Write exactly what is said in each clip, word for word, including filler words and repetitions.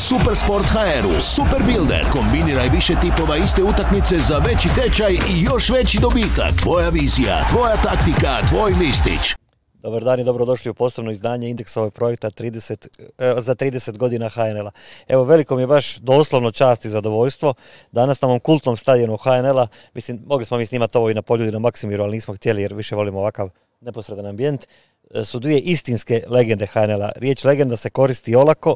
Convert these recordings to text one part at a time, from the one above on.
Supersport ha er u Super Builder. Kombiniraj više tipova iste utakmice za veći tečaj i još veći dobitak. Tvoja vizija, tvoja taktika, tvoj listić. Dobar dan i dobrodošli u posebno izdanje Indeksovog projekta trideset, eh, za trideset godina ha en el a. Evo, veliko mi je baš doslovno čast i zadovoljstvo. Danas na ovom kultnom stadionu ha en el a, mislim, mogli smo mi snimati ovo i na Poljudi na Maksimiru, ali nismo htjeli jer više volimo ovakav neposredan ambijent, su dvije istinske legende ha en el a. Riječ legenda se koristi olako,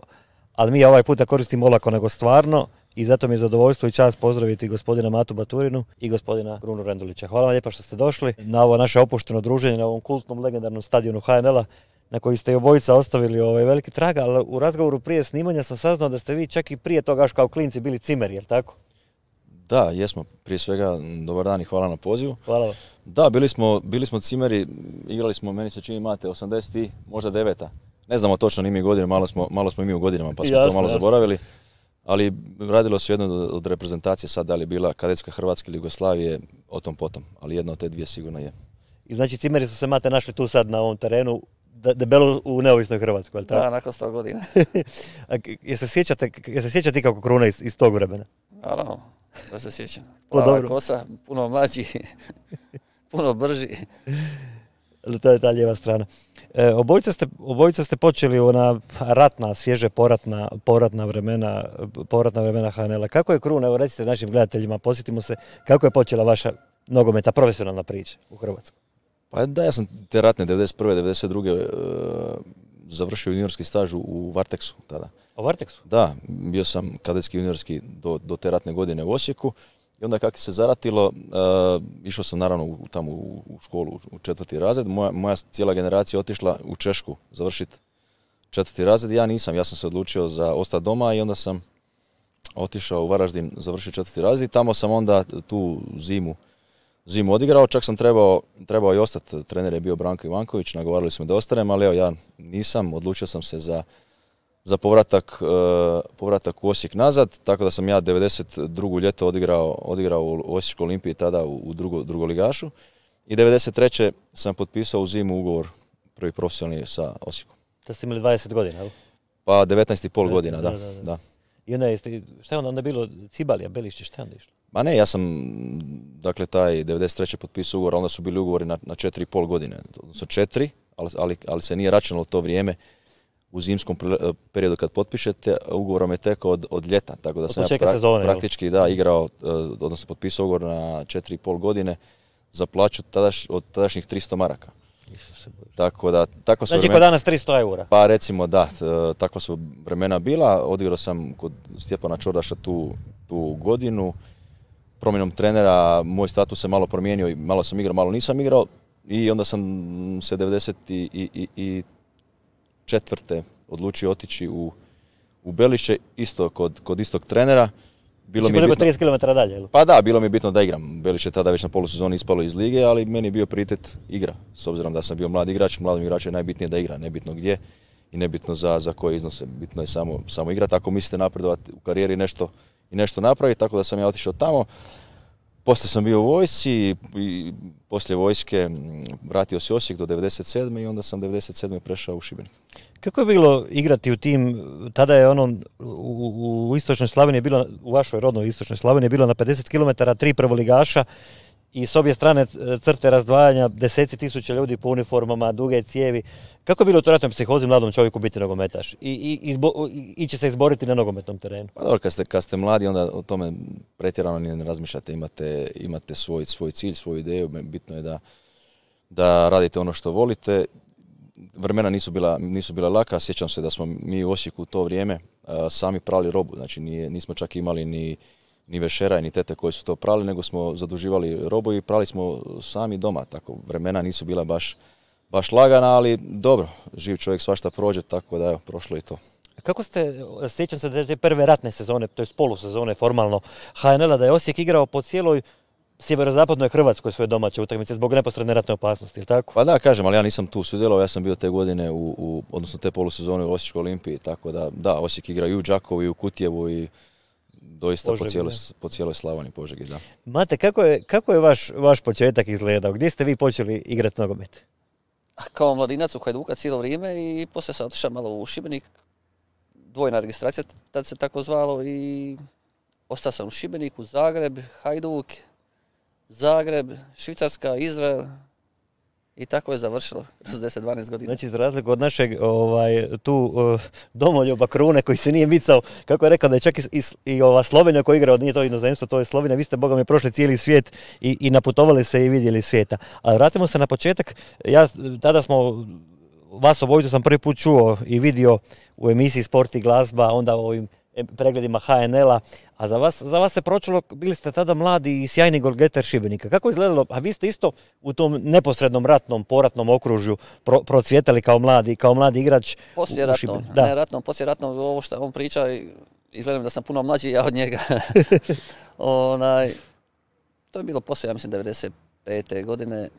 ali mi ovaj puta koristimo olako nego stvarno. I zato mi je zadovoljstvo i čast pozdraviti gospodina Matu Baturinu i gospodina Grunu Rendulića. Hvala vam lijepa što ste došli na ovo naše opušteno druženje na ovom kultnom legendarnom stadionu ha en el a na koji ste i obojica ostavili ovaj veliki trag, ali u razgovoru prije snimanja sam saznao da ste vi čak i prije toga kao klinci bili cimeri, jel tako? Da, jesmo. Prije svega, dobar dan i hvala na pozivu. Hvala vam. Da, bili smo, bili smo cimeri, igrali smo, meni se čini Mate, osamdeset i možda deveta. Ne znamo točno ni mi godine, malo smo, malo smo i mi u godinama pa smo jasne, to malo jasne. zaboravili. Ali radilo se jedno od reprezentacije, sad da li je bila kadetska Hrvatska ili Jugoslavije, o tom potom, ali jedna od te dvije sigurno je. I znači cimeri su se Mate našli tu sad na ovom terenu, debelo u neovisnoj Hrvatskoj, je li tako? Da, nakon sto godina. Je se sjećate, je se sjećate kako Kruna iz, iz tog vremena? Naravno, da se sjećam. Plava kosa, puno mlađi, puno brži. To je ta lijeva strana. E, obojica, ste, obojica ste počeli ona ratna, svježe poratna, poratna vremena, poratna vremena ha en el a. Kako je Kruna, evo recite našim gledateljima, posjetimo se, kako je počela vaša nogometa, profesionalna priča u Hrvatskoj? Pa da, ja sam te ratne devedeset prve devedeset druge Uh, završio juniorski staž u Varteksu tada. U Varteksu? Da, bio sam kadetski juniorski do, do te ratne godine u Osijeku. I onda kako se zaratilo, uh, išao sam naravno u, tamo u, u školu, u četvrti razred. Moja, moja cijela generacija otišla u Češku završiti četvrti razred. Ja nisam, ja sam se odlučio za ostati doma i onda sam otišao u Varaždin, završio četvrti razred. Tamo sam onda tu zimu, zimu odigrao, čak sam trebao, trebao i ostati. Trener je bio Branko Ivanković, nagovarali smo da ostanem, ali evo ja nisam, odlučio sam se za za povratak, uh, povratak u Osijek nazad, tako da sam ja devedeset druge ljeto odigrao, odigrao u Osječkoj Olimpiji tada u, u drugo, drugoligašu i devedeset treće sam potpisao u zimu ugovor prvi profesionalni sa Osijekom. Da ste imali dvadeset godina, ali? Pa devetnaest i pol godina, da. da, da, da. da. I onda jeste, šta je onda, onda bilo Cibalija, Belišće, šta je onda išlo? Ma ne, ja sam, dakle, taj devedeset treće potpisao ugovor, onda su bili ugovori na, na četiri i pol godine, odnosno četiri, ali, ali, ali se nije računalo to vrijeme u zimskom periodu kad potpišete, ugovorom je tekao od, od ljeta, tako da sam ja pra, sezone, praktički da, igrao, odnosno potpisao ugovor na četiri i pol godine za plaću tadaš, od tadašnjih tristo maraka. Tako da, tako su znači vremena, kod danas tristo eura? Pa recimo da, takva su vremena bila, odigrao sam kod Stjepana Čordaša tu, tu godinu, promjenom trenera, moj status se malo promijenio i malo sam igrao, malo nisam igrao i onda sam se devedeset četvrte odlučio otići u, u Belišće, isto kod, kod istog trenera. Bilo mi je bitno, trideset kilometara dalje, ili? Pa da, bilo mi je bitno da igram. Belišće tada već na polusezoni ispalo iz lige, ali meni je bio prioritet igra. S obzirom da sam bio mlad igrač, mladim igraču je najbitnije da igra, nebitno gdje i nebitno za, za koje iznose. Bitno je samo, samo igrati. Ako mislite napredovati u karijeri nešto, i nešto napraviti, tako da sam ja otišao tamo. Poslije sam bio u vojsci i poslije vojske vratio se Osijek do devedeset sedme i onda sam devedeset sedme prešao u Šibenik. Kako je bilo igrati u tim, tada je ono u, u istočnoj Slavoniji bilo, u vašoj rodnoj istočnoj Slavoniji je bilo na pedeset kilometara tri prvoligaša i s obje strane crte razdvajanja, deseci tisuća ljudi po uniformama, duge cijevi. Kako je bilo u ratnoj psihozi mladom čovjeku biti nogometaš i, i, izbo, i ići se izboriti na nogometnom terenu? Pa dobro, kad ste, kad ste mladi onda o tome pretjerano ne razmišljate, imate, imate svoj, svoj cilj, svoju ideju, bitno je da, da radite ono što volite. Vremena nisu bila, nisu bila laka, sjećam se da smo mi u Osijeku u to vrijeme a, sami prali robu, znači nije, nismo čak imali ni, ni vešera ni tete koji su to prali, nego smo zaduživali robu i prali smo sami doma, tako vremena nisu bila baš, baš lagana, ali dobro, živ čovjek svašta prođe, tako da evo, prošlo i to. Kako ste, sjećam se da te prve ratne sezone, to je polusezone formalno ha en el a, da je Osijek igrao po cijeloj sjeverozapadnoj Hrvatskoj svoje domaće utakmice zbog neposredne ratne opasnosti, ili tako? Pa da, kažem, ali ja nisam tu sudjelovao, ja sam bio te godine, u, u, odnosno te polusezone u Osječkoj Olimpiji, tako da, da, Osijek igra i u Đakovu i u Kutjevu i doista Požegi, po, cijeloj, po cijeloj Slavoniji, Požegi, da. Mate, kako je, kako je vaš, vaš početak izgledao? Gdje ste vi počeli igrati nogomet? Kao mladinac u Hajduka cijelo vrijeme i poslije sam otišao malo u Šibenik. dvojna registracija, tad se tako zvalo, i ostao sam u Šibeniku, Zagreb, Hajduk, Zagreb, Švicarska, Izrael, i tako je završilo kroz deset dvanaest godina. Znači, za razliku od našeg ovaj, tu uh, domoljuba Krune koji se nije micao, kako je rekao da je čak i, i, i ova Slovenija koja igra, nije to inozemstvo, to je Slovenija, vi ste, boga mi, prošli cijeli svijet i, i naputovali se i vidjeli svijeta. Ali vratimo se na početak, ja, tada smo, vas obojicu sam prvi put čuo i vidio u emisiji Sport i glazba, onda u ovim pregledima H N L-a, a za vas, za vas se pročulo, bili ste tada mladi i sjajni golgeter Šibenika. Kako je izgledalo? A vi ste isto u tom neposrednom ratnom, poratnom okružju pro, procvjetali kao mladi, kao mladi igrač. Poslije ratnom, ne ratnom, poslije ratnom, ovo što on priča, izgledam da sam puno mlađi ja od njega. Onaj, to je bilo poslije, ja mislim, devedeset pete godine.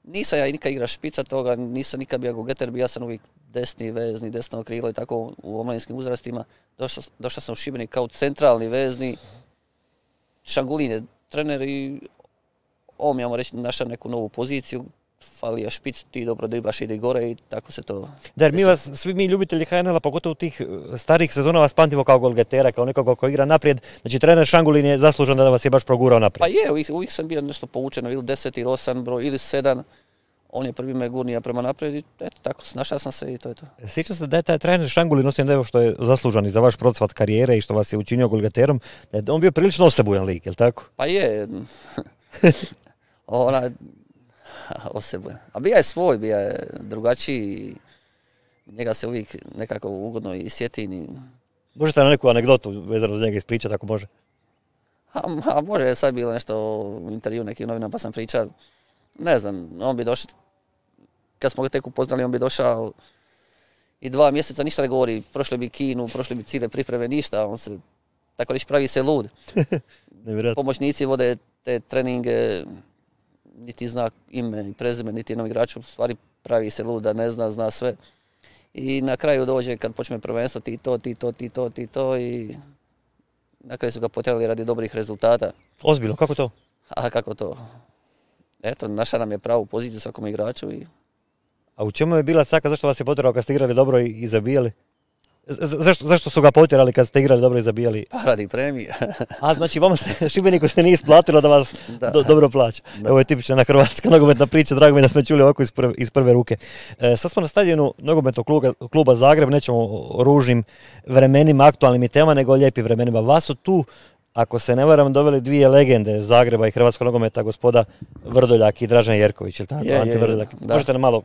Nisam ja i nikad igra špica toga, nisam nikad bio golgeter, bio sam uvijek desni vezni, desno krilo i tako u omladinskim uzrastima. Došao, došao sam u Šibenik kao centralni vezni. Šangulin je trener i on mi, ajmo reći, našao neku novu poziciju. Falija špic, ti dobro driblaš, ide gore i tako se to... Da, jer mi vas, svi mi ljubitelji H N L-a, pogotovo tih starih sezona, vas pamtimo kao golgetera, kao nekoga ko igra naprijed. Znači, trener Šangulin je zaslužan da vas je baš progurao naprijed. Pa je, uvijek, uvijek sam bio nešto povučeno, ili deset ili osam broj, ili sedam. On je prvi me gurnija prema naprijed i eto, tako, snašao sam se i to je to. Sjećam se da je taj trener Šangulin, osim da je što je zaslužan i za vaš procvat karijere i što vas je učinio golgeterom, da je on bio prilično osebujan lik, je li tako? Pa je. Ona... Osebujan. A bija je svoj, bija je drugačiji. Njega se uvijek nekako ugodno i sjetim. I... Možete na neku anegdotu vezano za njega ispričati, ako može? A, a može, sad bilo nešto u intervju nekim novinama, pa sam pričao. Ne znam, on bi došao, kad smo ga tek upoznali, on bi došao i dva mjeseca ništa ne govori. Prošli bi Kinu, prošli bi cijele pripreme, ništa. On se, tako reći, pravi se lud. Pomoćnici vode te treninge, niti zna ime i prezime, niti jednom igraču, u stvari pravi se lud da ne zna, zna sve. I na kraju dođe, kad počne prvenstvo, ti to, ti to, ti to, ti to, i na kraju su ga potjerali radi dobrih rezultata. Ozbiljno, kako to? A kako to? Eto, naša nam je pravu poziciju svakom igraču. I... A u čemu je bila caka, zašto vas je potjerao kad ste igrali dobro i, i zabijali? Zašto, zašto su ga potjerali kad ste igrali dobro i zabijali? Pa radi premije. A znači vama se, Šibeniku se nije isplatilo da vas da. Do, dobro plaća. Da. Ovo je tipična na hrvatska nogometna priča, drago mi da smo čuli ovako iz prve, iz prve ruke. E, sad smo na stadionu nogometnog kluba, kluba Zagreb, nećemo o ružnim vremenima, aktualnim i tema, nego o lijepim vremenima. Vas su tu, ako se ne varam, doveli dvije legende Zagreba i hrvatskog nogometa, gospoda Vrdoljak i Dražen Jerković, ili tako? Je, Ante je, Vrdoljak. da. Možete nam malo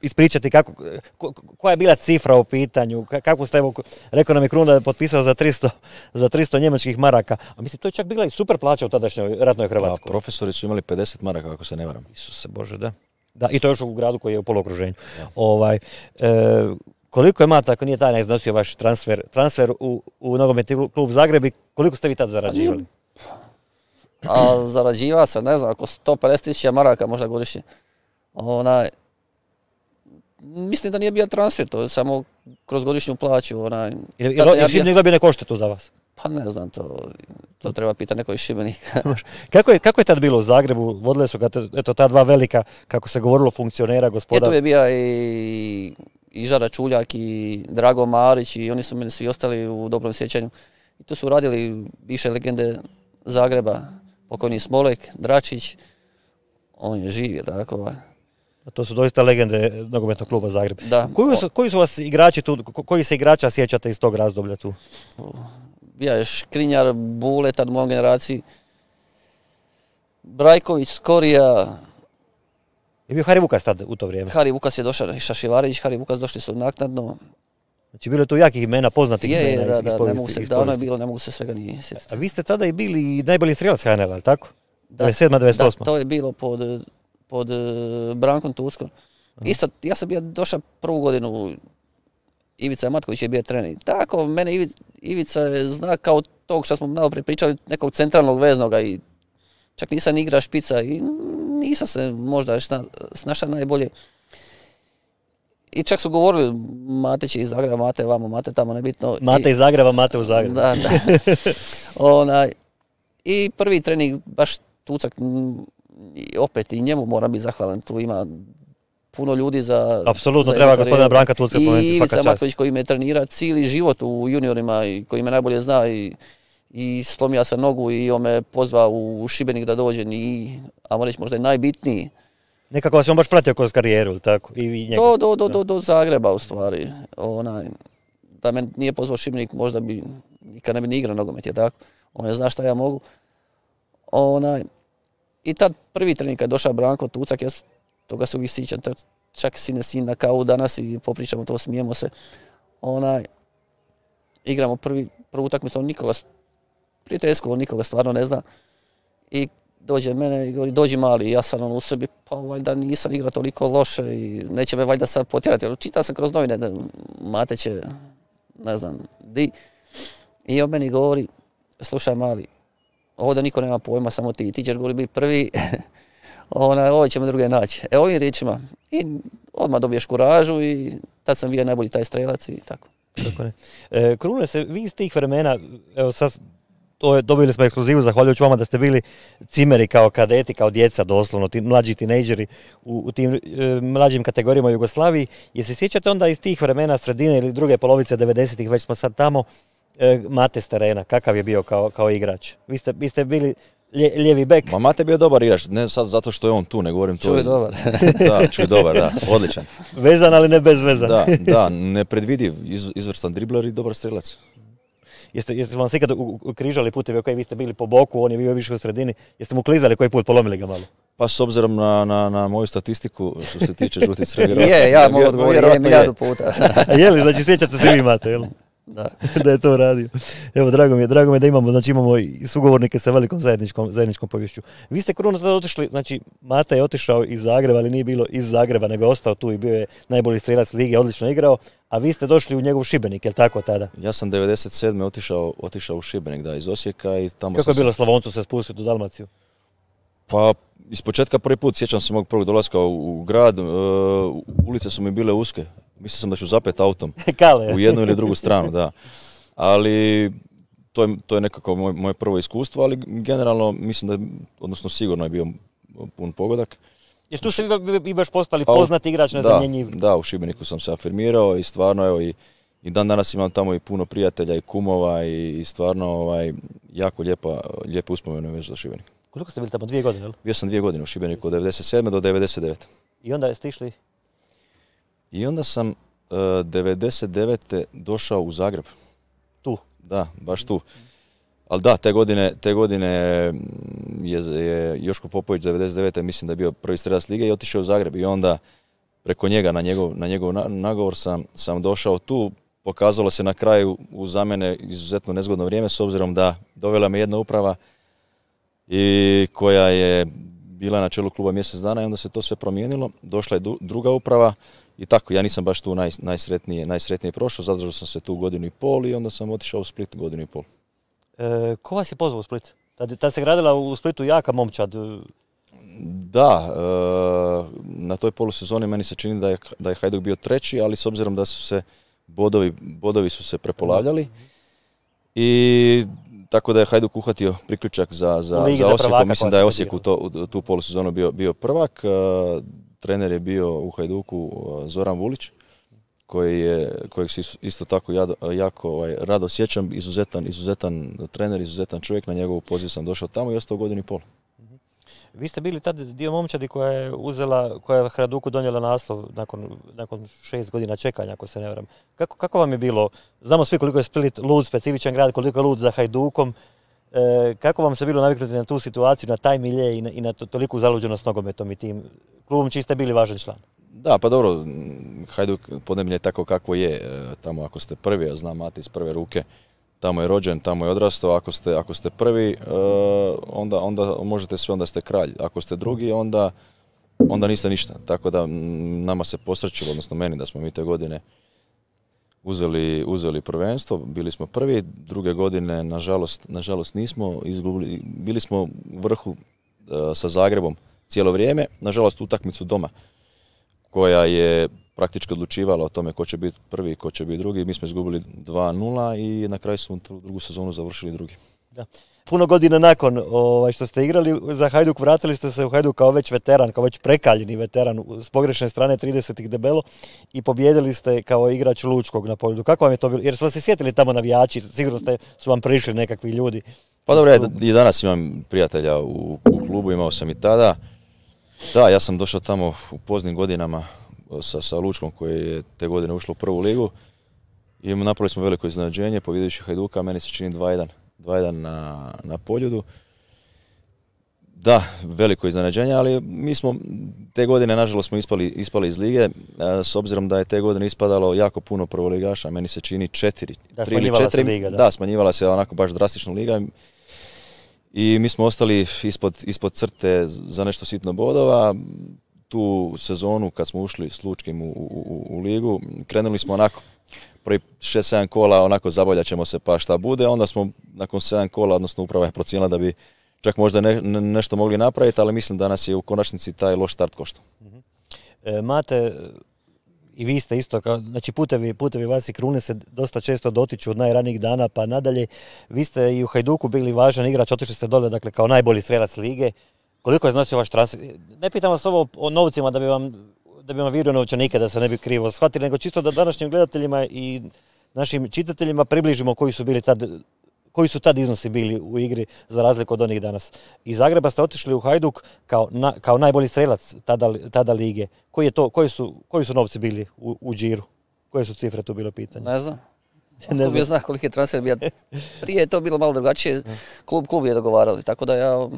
ispričati kako, ko, koja je bila cifra u pitanju, kako ste, evo, rekao nam je Krun da je potpisao za tristo, za tristo njemačkih maraka, a mislim to je čak bila i super plaća u tadašnjoj ratnoj Hrvatskoj. A profesori su imali pedeset maraka, ako se ne varam. Isuse Bože, da. Da, i to još u gradu koji je u poluokruženju. Ovaj, e, koliko je Mata, ako nije tajna, iznosio vaš transfer, transfer u, u nogometni klub Zagreb i koliko ste vi tad zarađivali? A zarađivao sam, ne znam, oko sto pedeset tisuća maraka možda godišnje. Onaj, mislim da nije bio transfer, to je samo kroz godišnju plaću. Onaj, Ili ja ja Šibenik dobio neko odštetu za vas? Pa ne znam, to, to treba pitati neko iz Šibenika. kako, je, kako je tad bilo u Zagrebu? Vodile su ga eto, ta dva velika, kako se govorilo, funkcionera, gospoda. Je tu je bio i, i Žara Čuljak i Drago Marić i oni su meni svi ostali u dobrom sjećanju. I tu su radili više legende Zagreba, pokojni Smolek, Dračić, on je živ, tako. A to su doista legende nogometnog kluba Zagreb. Da. Koji su, koji su vas igrači tu, koji se igrača sjećate iz tog razdoblja tu? Bija je Škrinjar, Bule, tad u mojoj generaciji, Brajković, Skorija. Je bio Hari Vukas tad u to vrijeme? Hari Vukas je došao, Šašivarević, Hari Vukas došli su naknadno. Znači bilo je tu jakih imena, poznatih je, imena da, iz, da, iz povijesti. Ne mogu se, davno je bilo, ne mogu se svega ni sjetiti. A vi ste tada i bili i najbolji strelac H N L-a, ali tako? devedeset sedma devedeset osma. Da, to je bilo pod, pod Brankom Tuckom. Isto, ja sam bio došao prvu godinu, Ivica Matković je bio trener. Tako, mene Ivica, Ivica je zna kao tog što smo malo pričali, nekog centralnog veznoga i čak nisam igra špica i nisam se možda snašao najbolje. I čak su govorili, Mate će iz Zagreba, Mate vamo, Mate tamo, nebitno. Mate iz Zagreba, Mate u Zagrebu. Da, da. Onaj, i prvi trening, baš Tucak, opet i njemu moram biti zahvalan, tu ima puno ljudi za... Apsolutno, treba gospodina Branka Tulca pomenuti, i svaka Ivica čast. Matković koji me trenira cijeli život u juniorima i koji me najbolje zna i, i slomio sam nogu i on me pozvao u Šibenik da dođem i, ajmo reći, možda je najbitniji. Nekako vas je on baš pratio kroz karijeru, ili tako? I vi njega. Do, do, do, do, do Zagreba u stvari. Onaj, da me nije pozvao Šibenik, možda bi nikad ne bi ni igrao nogomet, je tako? On ne zna šta ja mogu. Onaj, i tad prvi trening kad je došao Branko Tucak, ja toga se uvijek sjećam, čak sine sin na kavu danas i popričamo to, smijemo se. Onaj, igramo prvi, prvu utakmicu, on nikoga, prijateljsko, on nikoga stvarno ne zna. I dođe mene i govori, dođi mali, ja sam on u sebi, pa valjda nisam igrao toliko loše i neće me valjda sad potjerati. Čitao sam kroz novine, Mate će, ne znam, di. I on meni govori, slušaj mali, ovdje niko nema pojma, samo ti, ti ćeš govori biti prvi, ona, ovo ćemo druge naći. E ovim riječima, i odmah dobiješ kuražu i tad sam bio najbolji taj strelac i tako. Tako ne. E, Krune se, vi iz tih vremena, evo sad, to je, dobili smo ekskluzivu, zahvaljujući vama da ste bili cimeri kao kadeti, kao djeca doslovno, ti, mlađi tinejdžeri u, u tim e, mlađim kategorijama u Jugoslaviji. Je se sjećate onda iz tih vremena, sredine ili druge polovice devedesetih, već smo sad tamo, e, Mate s terena, kakav je bio kao, kao igrač? Vi ste, vi ste bili lje, lijevi bek. Ma Mate je bio dobar igrač, ne sad zato što je on tu, ne govorim to. Čuj dobar. Da, čuj dobar, da, odličan. Vezan, ali ne bez veza. Da, da, nepredvidiv, iz, izvrstan dribler i dobar strelac. Jeste, jeste vam se ikad ukrižali putevi, ok, vi ste bili po boku, on je bio više u sredini, jeste mu klizali koji put, polomili ga malo? Pa s obzirom na, na, na moju statistiku što se tiče žutih crvenih. Je, ja mogu odgovoriti, je milijardu puta. Je li, znači sjećate se vi Mate, jel? Da. Da je to radio. Evo, drago mi je, drago mi je da imamo, znači imamo i sugovornike sa velikom zajedničkom, zajedničkom povješću. Vi ste Kruno sada otišli, znači Mate je otišao iz Zagreba, ali nije bilo iz Zagreba, nego je ostao tu i bio je najbolji strelac lige, odlično igrao, a vi ste došli u njegov Šibenik, jel tako tada? Ja sam devedeset sedme otišao, otišao u Šibenik, da, iz Osijeka i tamo Kako sam je bilo se... Slavoncu se spustiti u Dalmaciju? Pa, iz početka prvi put sjećam se mog prvog dolaska u, u grad, uh, ulice su mi bile uske, mislio sam da ću zapet autom Kale. u jednu ili drugu stranu, da. Ali to je, to je nekako moj, moje prvo iskustvo, ali generalno mislim da, odnosno sigurno je bio pun pogodak. Jer tu ste vi, vi baš postali Pa, poznati igrač, nezamjenjiv. Da, da, u Šibeniku sam se afirmirao i stvarno evo i, i dan danas imam tamo i puno prijatelja i kumova i, i stvarno ovaj, jako lijepa, lijepe uspomene već za Šibenik. Koliko ste bili tamo? Dvije godine, jel? Bio sam dvije godine u Šibeniku od devedeset sedme do devedeset devete. I onda ste išli? I onda sam uh, devedeset devete došao u Zagreb. Tu? Da, baš tu. Ali da, te godine, te godine je, je Joško Popović devedeset devete mislim da je bio prvi strelac lige i otišao u Zagreb. I onda preko njega, na njegov, na njegov nagovor sam, sam došao tu. Pokazalo se na kraju u za mene izuzetno nezgodno vrijeme s obzirom da dovela me jedna uprava i koja je bila na čelu kluba mjesec dana i onda se to sve promijenilo. Došla je druga uprava i tako, ja nisam baš tu naj, najsretnije, najsretnije prošao, zadržao sam se tu godinu i pol i onda sam otišao u Split godinu i pol. E, ko vas je pozvao u Split? Tad, tad se gradila u Splitu jaka momčad. Da, e, na toj polusezoni meni se čini da je, da je Hajduk bio treći, ali s obzirom da su se bodovi, bodovi su se prepolavljali i tako da je Hajduk uhvatio priključak za, za, za Osijeku. Mislim da je Osijek u, to, u tu polusezonu bio, bio prvak. Uh, trener je bio u Hajduku uh, Zoran Vulić, koji je, kojeg se isto tako jado, jako ovaj, rado sjećam. Izuzetan, izuzetan trener, izuzetan čovjek. Na njegovu poziv sam došao tamo i ostao godinu i pol. Vi ste bili tad dio momčadi koja je uzela, koja je Hajduku donijela naslov nakon, nakon šest godina čekanja, ako se ne varam. Kako, kako vam je bilo? Znamo svi koliko je Split lud, specifičan grad, koliko je lud za Hajdukom. E, kako vam se bilo naviknuti na tu situaciju, na taj milje i na, i na to, toliku zaluđenost nogometom i tim klubom čiji ste bili važan član? Da, pa dobro, Hajduk podneblje je tako kako je. E, tamo ako ste prvi, ja znam Mate iz prve ruke, tamo je rođen, tamo je odrastao, ako ste, ako ste prvi, uh, onda, onda možete sve, onda ste kralj. Ako ste drugi, onda, onda niste ništa. Tako da nama se posrećilo, odnosno meni, da smo mi te godine uzeli, uzeli prvenstvo, bili smo prvi, druge godine, nažalost, nažalost nismo izgubili, bili smo u vrhu uh, sa Zagrebom cijelo vrijeme, nažalost utakmicu doma, koja je praktički odlučivala o tome ko će biti prvi i ko će biti drugi. Mi smo izgubili dva nula i na kraju smo tu drugu sezonu završili drugi. Da. Puno godina nakon ovaj, što ste igrali za Hajduk, vratili ste se u Hajduk kao već veteran, kao već prekaljeni veteran s pogrešne strane tridesetih debelo i pobijedili ste kao igrač Lučkog na Poljudu. Kako vam je to bilo? Jer su vas se sjetili tamo navijači, sigurno ste, su vam prišli nekakvi ljudi. Pa dobro, ja i danas imam prijatelja u, u klubu, imao sam i tada. Da, ja sam došao tamo u poznim godinama sa, sa Lučkom koji je te godine ušlo u prvu ligu i napravili smo veliko iznenađenje, pobjedujući Hajduka, meni se čini dva jedan. dva jedan na, na Poljudu. Da, veliko iznenađenje, ali mi smo te godine, nažalost, smo ispali, ispali iz lige, s obzirom da je te godine ispadalo jako puno prvoligaša, meni se čini četiri, da, tri ili četiri. Liga, da. da, smanjivala se onako baš drastično liga i mi smo ostali ispod, ispod crte za nešto sitno bodova. Tu sezonu, kad smo ušli s Lučkim u, u, u ligu, krenuli smo onako prvi šest sedam kola, onako zaboljat ćemo se pa šta bude, onda smo nakon sedam kola, odnosno uprava je procijenila da bi čak možda ne, ne, nešto mogli napraviti, ali mislim da nas je u konačnici taj loš start koštao. E, Mate, i vi ste isto, kao, znači putevi, putevi vas i Krune se dosta često dotiču od najranijih dana pa nadalje. Vi ste i u Hajduku bili važan igrač, otišli ste dole, dakle, kao najbolji strelac lige. Koliko je iznosio vaš transfer? Ne pitam vas ovo o novcima da bi vam da bi vam vidio novčanike, da se ne bi krivo shvatili, nego čisto da današnjim gledateljima i našim čitateljima približimo koji su bili tad, koji su tad iznosi bili u igri za razliku od onih danas. Iz Zagreba ste otišli u Hajduk kao, na, kao najbolji strelac tada, tada lige. Koji, je to, koji, su, koji su novci bili u, u džiru? Koje su cifre tu bilo pitanje? Ne znam. Ne znam. Zna koliki je transfer bio. Prije je to bilo malo drugačije. Klub, klub je dogovarali, tako da ja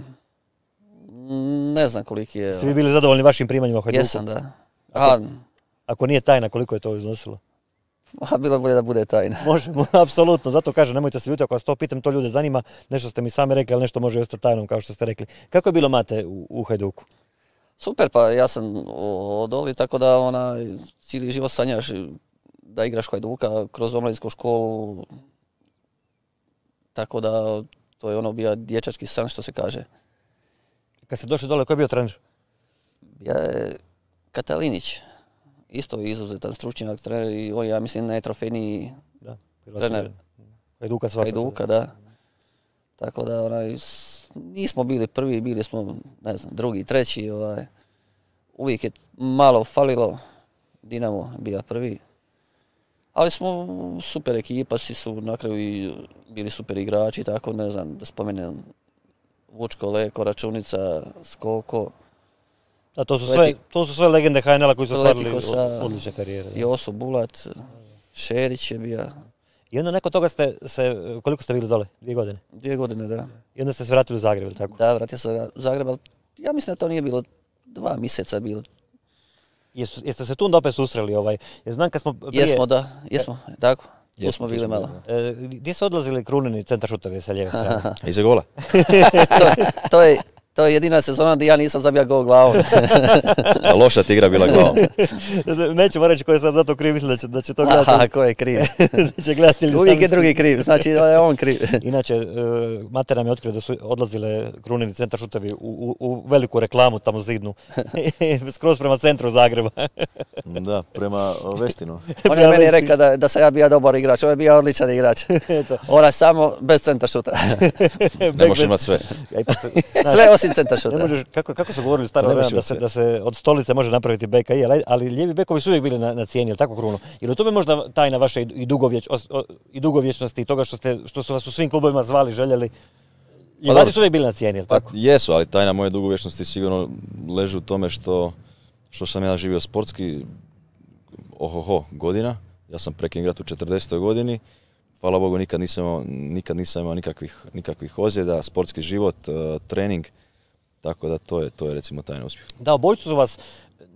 ne znam koliki je. Ste vi bili zadovoljni vašim primanjima u Hajduku? Jesam, da. Ako, ako nije tajna, koliko je to iznosilo? A bilo bolje da bude tajna. Može, apsolutno. Zato kažem, nemojte se ljutiti ako vas to pitam, to ljude zanima. Nešto ste mi sami rekli, ali nešto može ostati tajnom, kao što ste rekli. Kako je bilo, Mate, u, u Hajduku? Super, pa ja sam odoli, tako da ona, cijeli život sanjaš da igraš Hajduka kroz omladinsku školu. Tako da to je ono bio dječački san, što se kaže. Kad ste došli dole, ko je bio trener? Ja je Katalinić. Isto je izuzetan stručnjak, trener i on je, ja mislim, najtrofejniji da, trener Hajduka svakako. Hajduka, da. Tako da onaj, nismo bili prvi, bili smo, ne znam, drugi, treći. Ovaj. Uvijek je malo falilo, Dinamo bio prvi. Ali smo super ekipa, svi su na kraju i bili super igrači, tako ne znam, da spomenem Vučko, Leko, Računica, Skoko. Da, to su sve, to su sve legende H N L-a koji su ostvarili odlične karijere. Joso Bulat, Šerić je bio. I onda nakon toga ste se, koliko ste bili dole? Dvije godine? Dvije godine, da. I onda ste se vratili u Zagreb, ili tako? Da, vratio se u Zagreb, ali ja mislim da to nije bilo dva mjeseca bilo. Jesu, jeste se tu onda opet susreli ovaj? Jer znam kad smo prije... Jesmo, da, jesmo, tako. Tu smo bili malo. E, gdje su odlazili Krunini centar šutovi sa lijeve strane? Iza gola. to, to je... To je jedina sezona gdje ja nisam zabija gol glavom. Loša ti igra bila glavom. Nećemo reći ko je sad za to kriv, mislim da će, da će to gledati. Aha, ko je kriv? da će gledati. Uvijek je drugi kriv, znači da je on kriv. Inače, uh, Mate nam je otkrio da su odlazile Krunini centar šutovi u, u, u veliku reklamu tamo zidnu. Skroz prema centru Zagreba. Da, prema Vestinu. On je meni rekao da, da sam ja bio dobar igrač, on je bio odličan igrač. Ona samo bez centar šuta. Ne možeš imati sve. Sve osim centar šuta. Kako, kako su govorili u staro vremena da se, da se od stolice može napraviti beka i, ali, ali lijevi bekovi su uvijek bili na, na cijeni, ili tako, Kruno? Ili u tome možda tajna vaše i, dugovječ, i dugovječnosti i toga što, ste, što su vas u svim klubovima zvali, željeli? Ljevati su uvijek bili na cijeni, ili tako? Pa, jesu, ali tajna moje dugovječnosti sigurno leži u tome što, što sam ja živio sportski ohoho godina. Ja sam prekin igrati u četrdesetoj godini. Hvala Bogu, nikad nisam imao, nikad nisam imao nikakvih, nikakvih ozljeda, sportski život, uh, trening. Tako da to je, to je recimo tajna uspjeh. Da, obojicu su vas,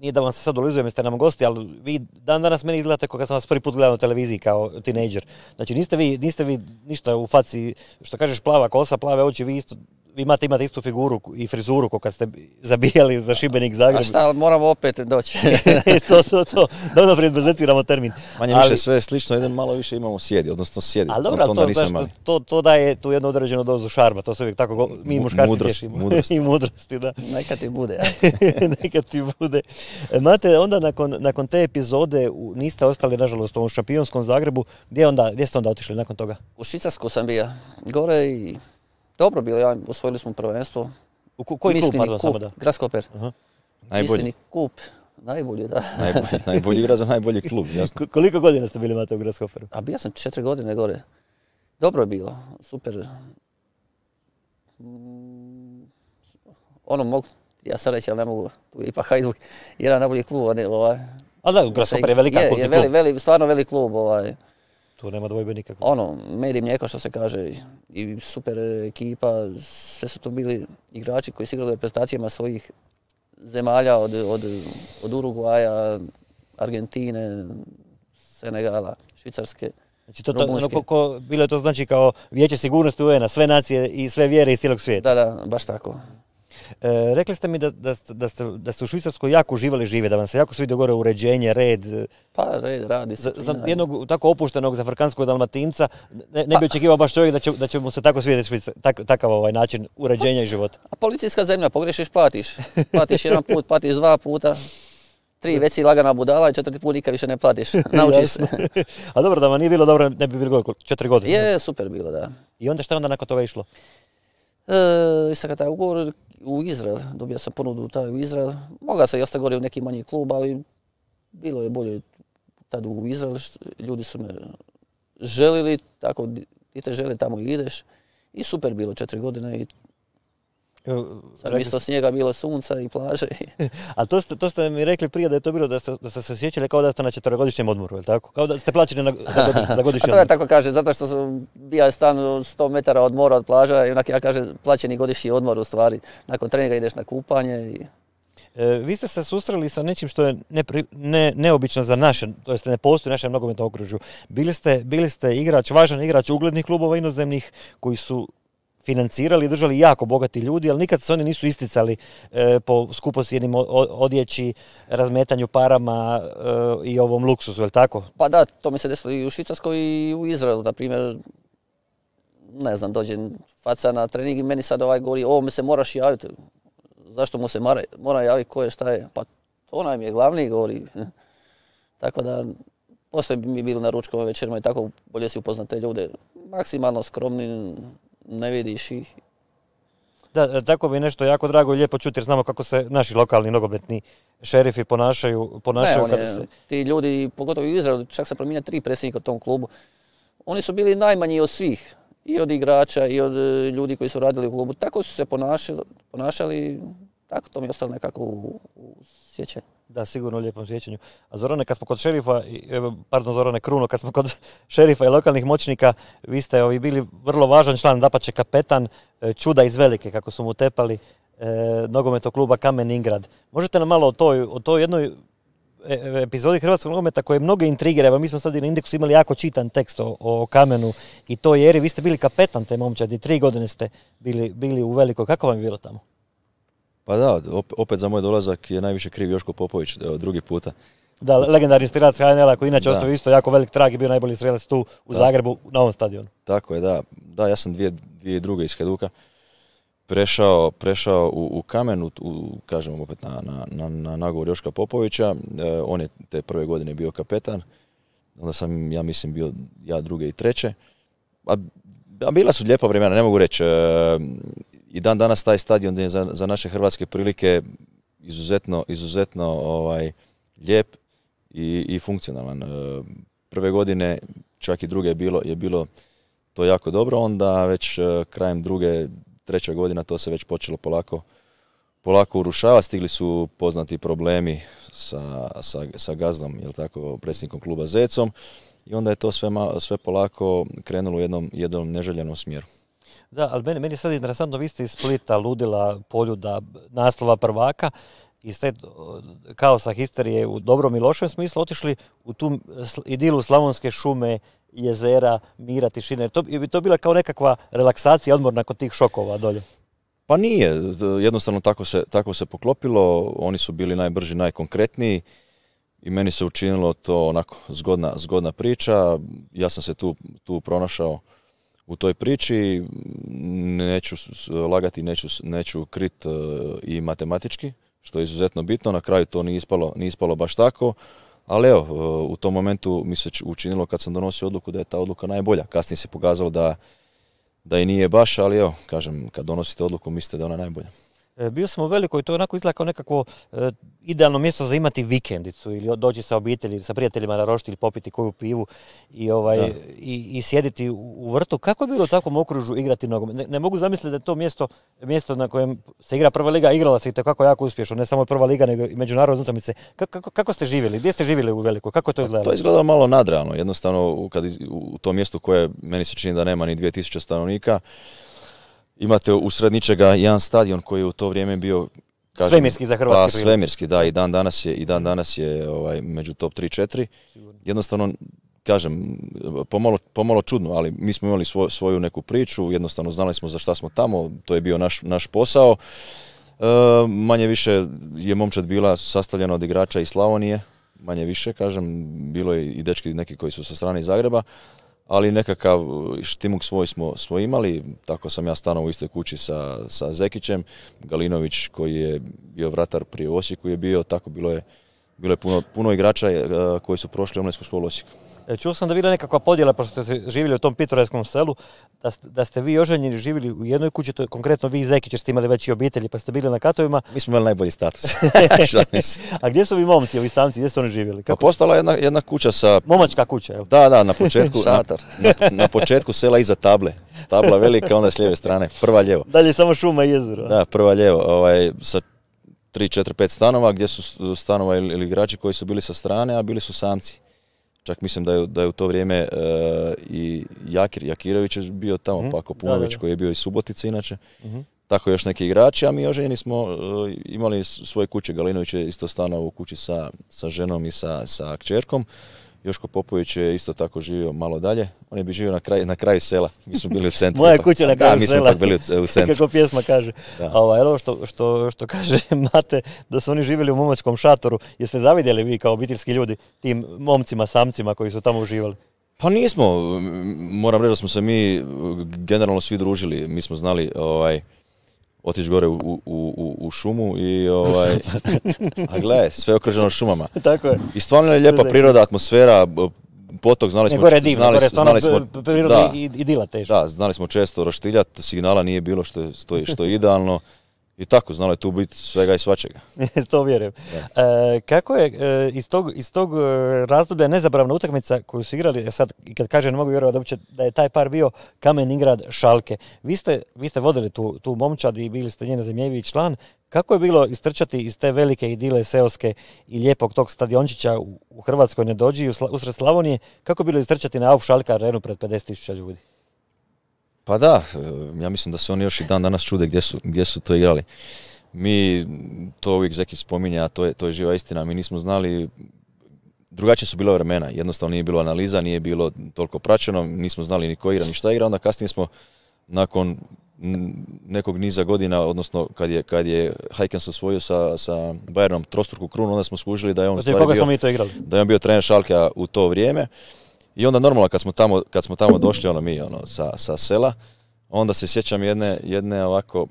nije da vam se sad ulizujem, jeste nam gosti, ali vi dan danas meni izgledate kao kad sam vas prvi put gledao na televiziji kao tinejdžer. Znači niste vi, niste vi ništa u faci, što kažeš plava kosa, plave oči, vi isto, vi imate, imate istu figuru i frizuru kao kad ste zabijali za Šibenik Zagreb. A šta, moramo opet doći. to, to, to. Da naprijed bezeciramo termin. Manje ali, više sve je slično, jedan malo više imamo sjedi, odnosno sjedi. Ali dobro, to, to, to, to daje tu jednu određenu dozu šarma, to se uvijek tako, mi muškarci mudrost, tješimo. Mudrost. I mudrosti, da. Neka ti bude. Neka ti bude. Mate, onda nakon, nakon te epizode niste ostali, nažalost, u ovom šampionskom Zagrebu. Gdje, onda, gdje ste onda otišli nakon toga? U Švicarsku sam bio. Gore i Dobro bilo, ja, osvojili smo prvenstvo. U ko, koji klub, Mislini pardon, kup, samo da? Graskoper. Aha. Najbolji. Mislini kup, najbolji, da. Najbolji, najbolji igra za najbolji klub, jasno. Ko- koliko godina ste bili, Mate, u Graskoperu? A bio sam četiri godine gore. Dobro je bilo, super. Mm, Ono mogu, ja sad reći, ali ne mogu, tu je ipak Hajduk, jedan najbolji klub, a ne, ovaj. Ali da, Graskoper je velika je, kultni je veli, klub. veli, stvarno velik klub, ovaj. Tu nema dvojbe nikako. Ono, med i mlijeko što se kaže, i super ekipa, sve su to bili igrači koji su igrali u reprezentacijama svojih zemalja od, od, od Urugvaja, Argentine, Senegala, Švicarske, Znači, to, to, ono, Rumunjske. ko, ko, bilo je to znači kao Vijeće sigurnosti U N a, sve nacije i sve vjere iz cijelog svijeta. Da, da, baš tako. E, rekli ste mi da, da, ste, da, ste, da ste u Švicarskoj jako uživali žive, da vam se jako svidio gore uređenje, red. Pa red, radi Za, se. za jednog tako opuštenog zafrikanskog Dalmatinca ne, ne bi očekivao baš čovjek da će, da će mu se tako svidjeti Švica, tak, takav ovaj način uređenja i života. A policijska zemlja, pogrešiš, platiš. Platiš jedan put, platiš dva puta. Tri već si lagana budala i četvrti put nikad više ne platiš. Naučiš se. A dobro, da vam nije bilo dobro, ne bi bilo gore, četiri godine. Je, super bilo, da. I onda šta onda nakon toga išlo? E, istaka taj ugovor u Izrael, dobio sam ponudu taj u Izrael. Mogao sam i ostati gore u neki manji klub, ali bilo je bolje tad u Izrael. Ljudi su me želili, tako ti te želi, tamo i ideš. I super bilo, četiri godine i sad mjesto snijega bilo sunca i plaže. A to ste, to ste mi rekli prije da je to bilo da ste, da ste se osjećali kao da ste na četverogodišnjem odmoru, je li tako? Kao da ste plaćeni na, na godi, za godišnji A to ja odmor. tako kažem, zato što sam bio stan sto metara od mora, od plaža i onak ja kažem plaćeni godišnji odmor u stvari. Nakon treninga ideš na kupanje. I... E, vi ste se susreli sa nečim što je nepri, ne, neobično za naše, to jest ne postoji u našem nogometnom okružju. Bili ste, bili ste igrač, važan igrač uglednih klubova inozemnih koji su financirali i držali jako bogati ljudi, ali nikad se oni nisu isticali e, po skupocjenim odjeći, razmetanju parama e, i ovom luksusu, je li tako? Pa da, to mi se desilo i u Švicarskoj i u Izraelu, na primjer, ne znam, dođe faca na trening i meni sad ovaj govori, ovo me se moraš javiti, zašto mu se mora, mora javiti ko je, šta je, pa to nam je glavni govori. Tako da, poslije bi mi bili na ručkovim večerima i tako bolje si upoznat te ljude, maksimalno skromni, ne vidiš ih. Da, tako bi je nešto jako drago i lijepo čuti jer znamo kako se naši lokalni nogometni šerifi ponašaju, ponašaju ne, kada je, se... ti ljudi, pogotovo u Izraelu, čak se promijenja tri predsjednika u tom klubu, oni su bili najmanji od svih, i od igrača i od ljudi koji su radili u klubu. Tako su se ponašali, ponašali tako to mi je ostalo nekako u, u sjećanju. Da, sigurno u lijepom sjećanju. A Zorane, kad smo kod šerifa, pardon Zorane Kruno, kad smo kod šerifa i lokalnih moćnika, vi ste ovi bili vrlo važan član, dapače kapetan čuda iz Velike, kako su mu tepali e, nogometnog kluba Kamen Ingrad. Možete nam malo o toj, o toj jednoj epizodi hrvatskog nogometa koje mnoge intrigira, evo mi smo sad i na Indeksu imali jako čitan tekst o, o Kamenu i toj eri, vi ste bili kapetan te momčadi, tri godine ste bili, bili u Velikoj, kako vam je bilo tamo? Pa da, opet za moj dolazak je najviše kriv Joško Popović, evo, drugi puta. Da, legendarni strelac H N L-a koji inače ostavio isto jako velik trag i bio najbolji strelac tu u da. Zagrebu na ovom stadionu. Tako je, da. Da, ja sam dvije, dvije druge iz Hajduka prešao, prešao u, u Kamen, u, u, kažem opet na, na, na, na nagovor Joška Popovića. E, on je te prve godine bio kapetan, onda sam, ja mislim, bio ja druge i treće. A, a bila su lijepa vremena, ne mogu reći. E, I dan danas taj stadion je za, za naše hrvatske prilike izuzetno, izuzetno ovaj, lijep i, i funkcionalan. Prve godine, čak i druge je bilo, je bilo to jako dobro, onda već krajem druge, treće godina to se već počelo polako, polako urušavati. Stigli su poznati problemi sa, sa, sa gazdom, jel tako, predsjednikom kluba Zecom i onda je to sve, sve polako krenulo u jednom, jednom neželjenom smjeru. Da, ali meni, meni je sad interesantno, vi ste iz Splita, ludila, Poljuda, naslova prvaka i ste kaosa histerije u dobrom i lošem smislu otišli u tu idilu slavonske šume, jezera, mira, tišine. To bi to bila kao nekakva relaksacija, odmor nakon tih šokova dolje? Pa nije, jednostavno tako se, tako se poklopilo, oni su bili najbrži, najkonkretniji i meni se učinilo to onako zgodna, zgodna priča. Ja sam se tu, tu pronašao u toj priči, neću lagati, neću, neću krit i matematički, što je izuzetno bitno, na kraju to nije ispalo, nije ispalo baš tako, ali evo, u tom momentu mi se učinilo kad sam donosio odluku da je ta odluka najbolja. Kasnije se pokazalo da, da i nije baš, ali evo, kažem, kad donosite odluku mislite da je ona najbolja. Bio sam u Velikoj, to je onako izgleda kao nekakvo e, idealno mjesto za imati vikendicu ili doći sa obitelji, sa prijateljima na roštilj, popiti koju pivu i, ovaj, i, i sjediti u, u vrtu. Kako je bilo u takvom okružju igrati nogomet? Ne, ne mogu zamisliti da je to mjesto, mjesto na kojem se igra prva liga, igrala se i tako jako uspješno, ne samo prva liga, nego i međunarodne utakmice. Kako, kako ste živjeli? Gdje ste živjeli u Velikoj? Kako je to izgledalo? To je izgledalo malo nadrealno. Jednostavno, kad u tom mjestu koje meni se čini da nema ni dvije tisuće stanovnika, imate usred ničega jedan stadion koji je u to vrijeme bio, kažem, svemirski za hrvatske pa, svemirski, da, i dan danas je, i dan danas je ovaj, među top tri četiri. Jednostavno, kažem, pomalo, pomalo čudno, ali mi smo imali svoj, svoju neku priču, jednostavno znali smo za šta smo tamo, to je bio naš, naš posao. E, manje više je momčad bila sastavljena od igrača iz Slavonije, manje više, kažem, bilo je i dečki neki koji su sa strane iz Zagreba, ali nekakav štimuk svoj smo, smo imali, tako sam ja stanovao u istoj kući sa, sa Zekićem, Galinović koji je bio vratar prije u Osijeku je bio, tako bilo je, bilo je puno, puno igrača koji su prošli omladinsku školu Osijeku. Čuo sam da bila nekakva podjela, pošto ste živjeli u tom pitoreskom selu, da ste, da ste vi oženjeni živjeli u jednoj kući, to je konkretno vi i Zekić, jer ste imali već i obitelji, pa ste bili na katovima. Mi smo imali najbolji status. A gdje su vi momci, ovi samci, gdje su oni živjeli? Kako? Pa postala jedna, jedna kuća sa... Momačka kuća, evo. Da, da, na početku, na, na, na početku sela iza table. Tabla velika, onda s lijeve strane, prva lijevo. Dalje samo šuma i jezero. Da, prva lijevo, ovaj, sa tri, četiri, pet stanova, gdje su stanova ili, ili igrači koji su bili sa strane, a bili su samci. Čak mislim da je, da je u to vrijeme uh, i Jakir, Jakirović je bio tamo, mm-hmm. Pako Punović koji je bio iz Subotice inače. Mm-hmm. Tako još neki igrači, a mi oženjeni smo uh, imali svoje kuće. Galinović je isto stanovao u kući sa, sa ženom i sa, sa kćerkom. Joško Popović je isto tako živio malo dalje. On je bi živio na, kraj, na kraju sela. Mi smo bili u centru. Moja kuća na kraju da, sela. Mi smo pak bili u, u centru. Kako pjesma kaže. A ovo, evo što, što, što kaže Mate, da su oni živjeli u momačkom šatoru. Jeste zavidjeli vi kao obiteljski ljudi tim momcima, samcima koji su tamo uživali? Pa nismo. Moram reći da smo se mi generalno svi družili. Mi smo znali... Ovaj, otići gore u, u, u, u šumu i ovaj, a gledaj, sve okruženo šumama. Tako je. I stvarno je lijepa priroda, atmosfera, potok, znali smo... Gore je divno, gore je stvarno priroda i idila teško. Da, znali smo često roštiljati, signala nije bilo što je, što je, što je idealno. I tako, znalo je tu biti svega i svačega. To vjerujem. E, kako je e, iz tog, iz tog razdoblja nezabravna utakmica koju su igrali, sad i kad kažem ne mogu vjerovati da je taj par bio Kamen Ingrad Šalke. Vi ste, vi ste vodili tu, tu momčad i bili ste njen zemljevi član. Kako je bilo istrčati iz te velike idile seoske i lijepog tog stadiončića u, u Hrvatskoj Nedođi usred Slavonije, kako je bilo istrčati na Auf Schalke arenu pred pedeset tisuća ljudi? Pa da, ja mislim da se oni još i dan danas čude gdje su, gdje su to igrali. Mi, to uvijek Zekić spominje, a to je, to je živa istina, mi nismo znali, drugačije su bila vremena, jednostavno nije bilo analiza, nije bilo toliko praćeno, nismo znali ni ko igra, ni šta igra, onda kasnije smo nakon nekog niza godina, odnosno kad je, kad je Heikens osvojio sa, sa Bayernom trostruku krunu, onda smo skužili da je on, stvari bio, mi to igrali? da je on bio trener Schalkea u to vrijeme. I onda normalno kad smo tamo, kad smo tamo došli ono mi ono sa, sa sela, onda se sjećam jedne, jedne ovako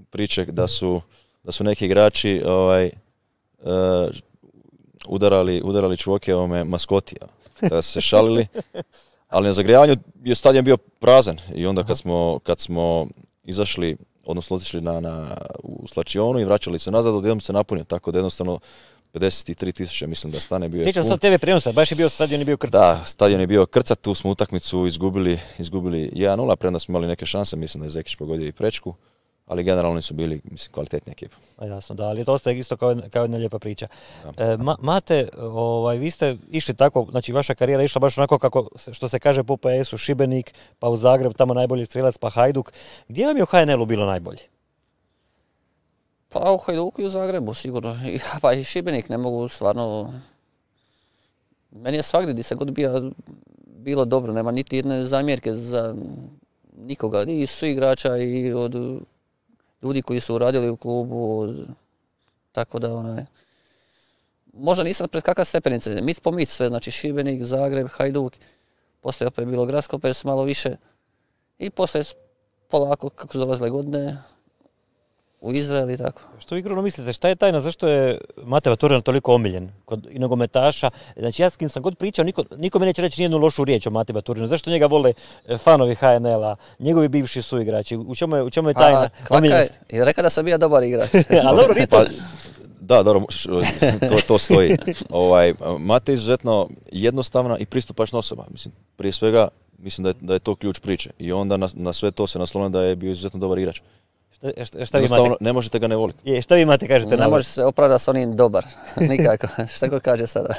priče da su, da su neki igrači ovaj, uh, udarali, udarali čvoke ovome maskotija. Da su se šalili, ali na zagrijavanju je stadion bio prazan i onda kad smo, kad smo izašli, odnosno otišli na, na, u slačionu i vraćali se nazad, odjednom se napunio, tako da jednostavno pedeset tri tisuće mislim da stane bio. Sjećam sad tebe prijenosa, baš je bio stadion je bio krcat. Da, stadion je bio krcat, tu smo utakmicu izgubili, izgubili jedan nula, premda smo imali neke šanse, mislim da je Zekić pogodio i prečku, ali generalno su bili, mislim, kvalitetni ekipa. A jasno, da, ali to ostaje isto kao, kao jedna lijepa priča. E, ma, Mate, ovaj, vi ste išli tako, znači vaša karijera išla baš onako kako, što se kaže po P S-u, Šibenik, pa u Zagreb, tamo najbolji strelac, pa Hajduk. Gdje vam je u H N L-u bilo najbolje? Pa u Hajduku i u Zagrebu, sigurno. Pa i Šibenik ne mogu stvarno... Meni je svagdje gdje se god bio bilo dobro, nema niti jedne zamjerke za nikoga. I su igrača i od ljudi koji su radili u klubu. Od... Tako da, onaj... Možda nisam pred kakva stepenice, mit po mit sve, znači Šibenik, Zagreb, Hajduk. Poslije opet bilo gradsko, opet su malo više. I poslije polako, kako su dolazile godine, u Izrael i tako. Što vi Kruno mislite, šta je tajna, zašto je Mate Vaturina toliko omiljen kod i nogometaša? Znači ja s kim sam god pričao, niko, niko mi neće reći nijednu lošu riječ o Mate Vaturinu. Zašto njega vole fanovi H N L-a, njegovi bivši suigrači? U čemu je, u čemu je tajna omiljenosti? I rekao da sam bio dobar igrač. A dobro, nije to. Da, dobro, to, to stoji. Ovaj, Mate je izuzetno jednostavna i pristupačna osoba. Mislim, prije svega, mislim da je, da je to ključ priče. I onda na, na sve to se naslonilo da je bio izuzetno dobar igrač. Šta, šta, šta vi imate? Ne možete ga ne voliti. Je, šta vi imate, kažete? Ne može se opravdati s onim dobar. Nikako. Šta ko kaže sada?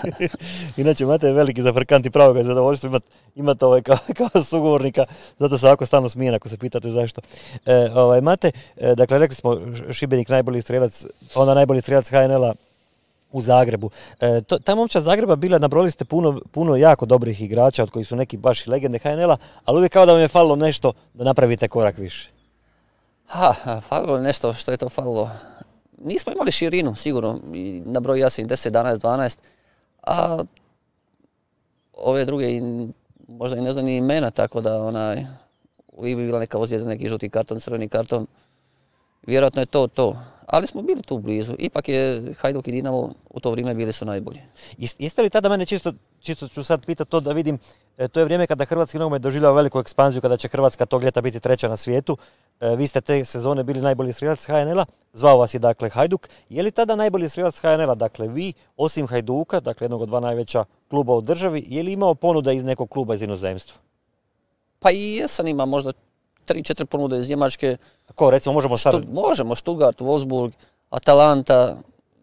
Inače, Mate je veliki zafrkant i pravo ga je zadovoljstvo imati imat ovaj kao, kao sugovornika. Zato se ovako stalno smijen ako se pitate zašto. E, ovaj, Mate, e, dakle, rekli smo Šibenik najbolji strelac, onda najbolji strelac H N L-a u Zagrebu. E, to, ta momčad Zagreba bila, nabrojili ste puno, puno jako dobrih igrača, od kojih su neki baš i legende H N L-a, ali uvijek kao da vam je falilo nešto da napravite korak više. Ha, falilo je nešto, što je to falilo? Nismo imali širinu, sigurno, i nabrojio ja sam deset, jedanaest, dvanaest, a ove druge i, možda i ne znam ni imena, tako da onaj, uvijek bi bila neka ozljeda, neki žuti karton, crveni karton, vjerojatno je to to. Ali smo bili tu blizu. Ipak je Hajduk i Dinamo u to vrijeme bili su najbolji. Jeste li tada, mene čisto, čisto ću sad pitati to da vidim, to je vrijeme kada hrvatski nogomet doživljava veliku ekspanziju, kada će Hrvatska tog ljeta biti treća na svijetu. Vi ste te sezone bili najbolji strelac H N L-a, zvao vas je dakle Hajduk. Je li tada najbolji strelac H N L-a, dakle vi, osim Hajduka, dakle jednog od dva najveća kluba u državi, je li imao ponuda iz nekog kluba iz inozemstva? Pa i jesam ima možda tri četiri ponude iz Njemačke. Ko, recimo, možemo sad... Štu, možemo, Stuttgart, Wolfsburg, Atalanta.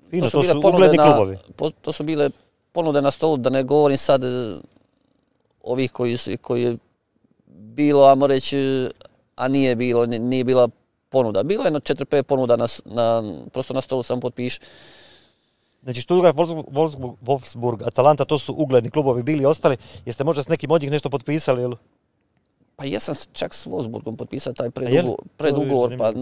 Fino, to su, to su ugledni na, klubovi. Po, to su bile ponude na stolu, da ne govorim sad ovih koji, su, koji je bilo, ajmo reći, a nije bilo, nije bila ponuda. Bilo je jedno četiri pet ponuda, na, na, prosto na stolu sam potpiš. Znači Stuttgart, Wolfsburg, Wolfsburg, Atalanta, to su ugledni klubovi bili i ostali. Jeste možda s nekim od njih nešto potpisali, ili? Pa jesam čak s Wolfsburgom potpisao taj predugovor, predugovor pa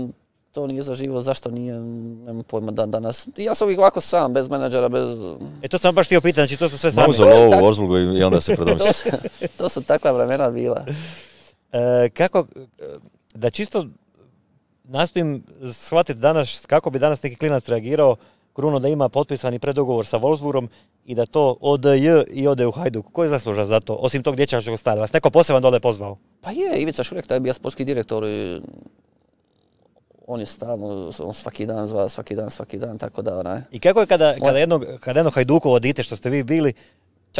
to nije zaživio, zašto nije, nemam pojma dan danas. Ja sam uvijek ovako sam, bez menadžera, bez... E to sam baš htio pitati, znači to su sve sami. Uzeo lovu u Wolfsburgu i onda se predomisli. to, to su takva vremena bila. E, kako, da čisto nastojim shvatiti danas, kako bi danas neki klinac reagirao, Kruno da ima potpisani predugovor sa Wolfsburgom i da to ode J i ode u Hajduk. Ko je zaslužan za to, osim tog dječačkog stada? Vas neko poseban dole pozvao? Pa je, Ivica Šurek, taj je bio sportski direktor. I on je stalno, on svaki dan zva, svaki dan, svaki dan, tako da onaj. I kako je kada, kada, jedno, kada jedno Hajdukovo dite, što ste vi bili,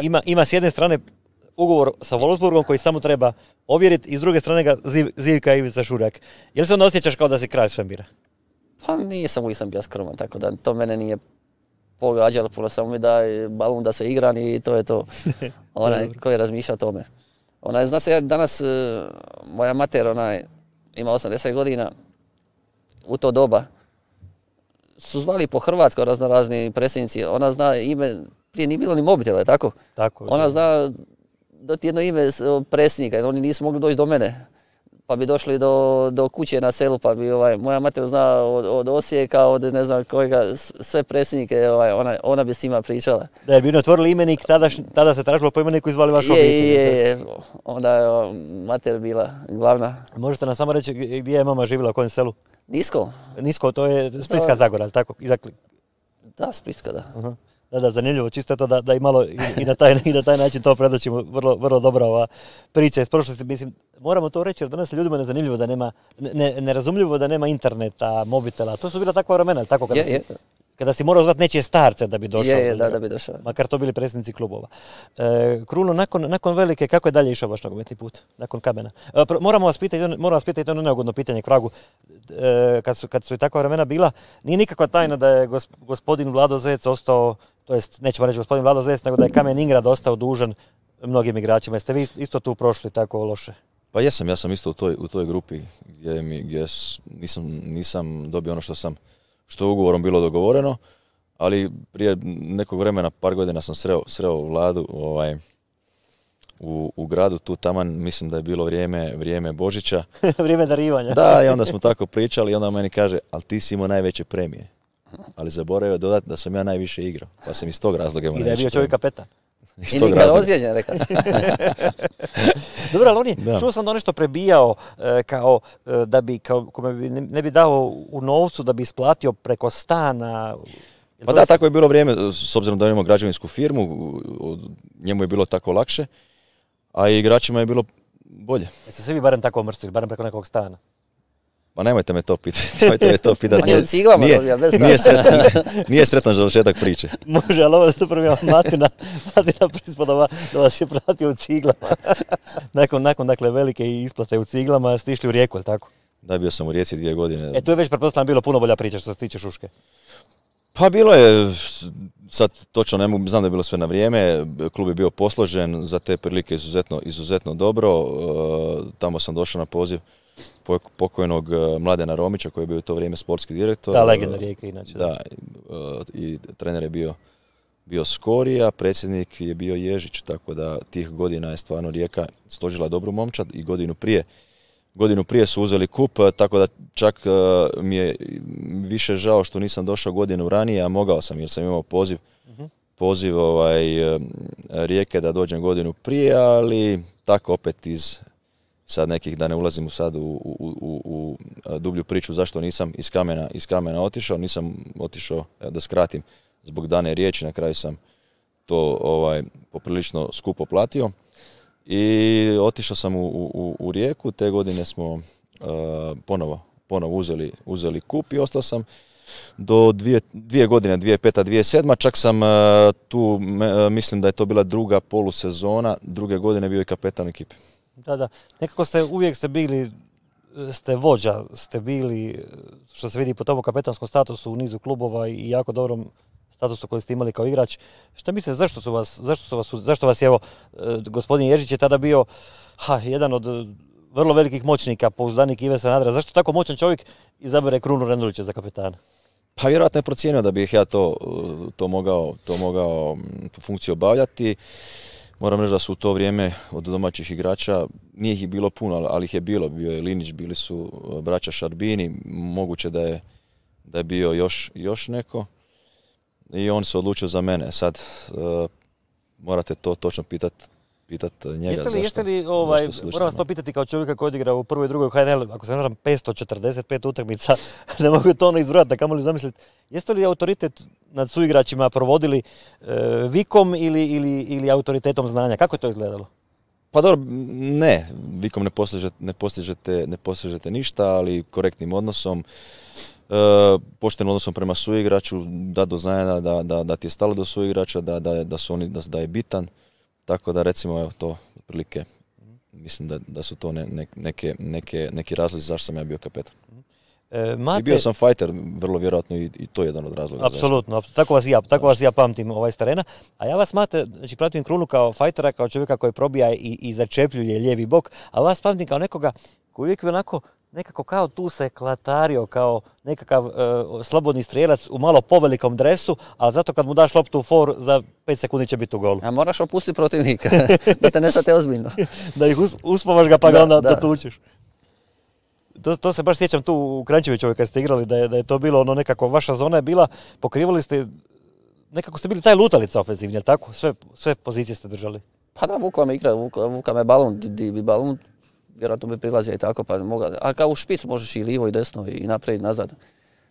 ima, ima s jedne strane ugovor sa Wolfsburgom koji samo treba ovjeriti i s druge strane ga ziv, zivka Ivica Šurek. Je li se onda osjećaš kao da si kralj svemira? Pa nisam, uvijek sam bio skroman, tako da to mene nije pogađalo, puno samo mi daj balun da se igram i to je to. Onaj ko je razmišljao o tome. Onaj, zna se, ja danas, moja mater, onaj, ima osamdeset godina, u to doba, su zvali po Hrvatskoj razno razni predsjednici, ona zna ime, prije nije bilo ni mobitela, je tako? Tako. Ona zna doti jedno ime predsjednika, jer oni nisu mogli doći do mene. Pa bi došli do, do kuće na selu, pa bi ovaj, moja mater zna od, od Osijeka, od ne znam kojega, sve predsjednike, ovaj, ona, ona bi s njima pričala. Da je bi otvorili imenik, tada, tada se tražilo po imeniku i zvali vaš obitelj. Je, je, je, onda je mater bila glavna. Možete nam samo reći gdje je mama živjela, u kojem selu? Nisko. Nisko, to je Splitska Zagora, tako? Izakli. Da, Splitska, da. Uh-huh. Da, da, zanimljivo, čisto je to da, da i malo i, i, na taj, i na taj način to predočimo, vrlo, vrlo dobra ova priča iz prošlosti. Mislim, moramo to reći jer danas je ljudima nezanimljivo da nema, ne, nerazumljivo da nema interneta, mobitela, to su bila takva vremena, tako kada, je, si, je. kada si morao zvati nečije starce da bi došao. Je, je, da, da bi došao. Makar to bili predsjednici klubova. E, Kruno, nakon, nakon velike, kako je dalje išao vaš nogometni put, nakon Kamena? E, moramo vas pitati, moramo vas pitati ono neugodno pitanje k vragu. E, kad, su, kad su i takva vremena bila, nije nikakva tajna da je gospodin Vlado Zec ostao, to jest, nećemo reći gospodin Vlado Zec, nego da je Kamen Ingrad ostao dužan mnogim igračima. Jeste vi isto tu prošli tako loše? Pa jesam, ja sam isto u toj, u toj grupi gdje, mi, gdje nisam, nisam dobio ono što sam, što je ugovorom bilo dogovoreno, ali prije nekog vremena, par godina sam sreo, sreo Vladu ovaj, u, u gradu, tu taman, mislim da je bilo vrijeme, vrijeme Božića. Vrijeme darivanja. Da, i onda smo tako pričali i onda meni kaže, ali ti si imao najveće premije. Ali zaboravio dodati da sam ja najviše igrao, pa sam iz tog razloga imao najviše. I da je bio čovjek kapetan. Iz I tog nikad razloga. ozlijeđen, rekao sam. Dobro, ali on je, Da. čuo sam da on nešto prebijao e, kao e, da bi, kao, kome bi ne, ne bi dao u novcu da bi isplatio preko stana. Jel Pa to da, isto? tako je bilo vrijeme, s obzirom da imamo građevinsku firmu, u- u- njemu je bilo tako lakše, a i igračima je bilo bolje. Jeste se vi barem tako omrstili, barem preko nekog stana? Pa nemojte me to pitati, nemojte me to pitati. On je u ciglama dobija, bez nije, stana. sretan, nije sretan završetak priče. Može, ali ovo je super bio Matina, Matina prispodova da vas je pratio u ciglama. nakon, nakon dakle, velike isplate u ciglama ste išli u Rijeku, je li tako? Da, bio sam u Rijeci dvije godine. E, tu je već pretpostavljam bilo puno bolja priča što se tiče Šuške. Pa bilo je, sad točno ne mogu, znam da je bilo sve na vrijeme, klub je bio posložen, za te prilike izuzetno, izuzetno dobro, e, tamo sam došao na poziv pok- pokojnog e, Mladena Romića koji je bio u to vrijeme sportski direktor. Da, legenda Rijeke inače. Da, e, i trener je bio, bio Skorija, predsjednik je bio Ježić, tako da tih godina je stvarno Rijeka složila dobru momčad i godinu prije. Godinu prije su uzeli kup, tako da čak uh, mi je više žao što nisam došao godinu ranije, a mogao sam jer sam imao poziv, Mhm. poziv ovaj, uh, Rijeke da dođem godinu prije, ali tako opet iz sad nekih, da ne ulazim u sad u, u, u, u dublju priču zašto nisam iz kamena, iz kamena otišao, nisam otišao, da skratim, zbog dane riječi, na kraju sam to ovaj, poprilično skupo platio. I otišao sam u, u, u Rijeku, te godine smo uh, ponovo, ponovo uzeli, uzeli kup i ostao sam do dvije, dvije godine, dvije peta, dvije sedma, čak sam uh, tu, me, mislim da je to bila druga polusezona, druge godine bio i kapetan ekipe. Da, da. Nekako ste, uvijek ste bili, ste vođa, ste bili, što se vidi po tomu kapetanskom statusu u nizu klubova i jako dobrom statusu koji ste imali kao igrač. Šta mislite, zašto su vas, zašto su vas, zašto vas je, evo, gospodin Ježić je tada bio ha, jedan od vrlo velikih moćnika, pouzdanik Ive Sanadera. Zašto tako moćan čovjek izabere Krunu Rendulića za kapetana? Pa vjerojatno je procijenio da bih ja to, to mogao, to mogao tu funkciju obavljati. Moram reći da su u to vrijeme od domaćih igrača, nije ih bilo puno, ali ih je bilo. Bio je Linić, bili su braća Šarbini, moguće da je, da je bio još, još neko. I on se odlučio za mene. Sad uh, morate to točno pitati pitat njega. Jeste li, zašto, jeste li ovaj, zašto moram vas to pitati kao čovjeka koji odigra u prvoj i drugoj H N L, ako se ne varam, petsto četrdeset pet utakmica, ne mogu to ono izbrojati, da kamoli zamisliti. Jeste li autoritet nad suigračima provodili e, vikom ili, ili, ili autoritetom znanja? Kako je to izgledalo? Pa dobro, ne, vikom ne postižete, ne postižete, ne postižete ništa, ali korektnim odnosom, e, poštenim odnosom prema suigraču, da do znanja da, da, da ti je stalo do suigrača, da, da, da, su oni, da, da je bitan. Tako da recimo evo to otprilike mislim da, da su to ne, ne, neke, neke, neki razlozi zašto sam ja bio kapetan. E, Mate... I bio sam fighter, vrlo vjerojatno i, i to je jedan od razloga. Apsolutno, tako vas ja, tako vas ja pamtim ovaj s terena. A ja vas, Mate, znači pratim Krunu kao fajtera, kao čovjeka koji probija i, i začepljuje lijevi bok, a vas pamtim kao nekoga koji uvijek onako nekako kao tu se klatario, kao nekakav e, slobodni strijelac u malo povelikom dresu, ali zato kad mu daš loptu u for, za pet sekundi će biti u golu. A moraš opustiti protivnika, da te ne sate ozbiljno. Da ih us, uspavaš ga pa ga Da, onda da. da tučeš. To, to se baš sjećam tu u Kranjčevićevoj kad ste igrali, da je, da je to bilo ono nekako, vaša zona je bila, pokrivali ste, nekako ste bili taj lutalica ofenzivni, jel tako? Sve, sve pozicije ste držali. Pa da, vukla me igra, vukla, vukla me balon, di, di bi balon, vjerojatno bi prilazio i tako, pa moga, a kao u špic možeš i lijevo i desno i naprijed i nazad.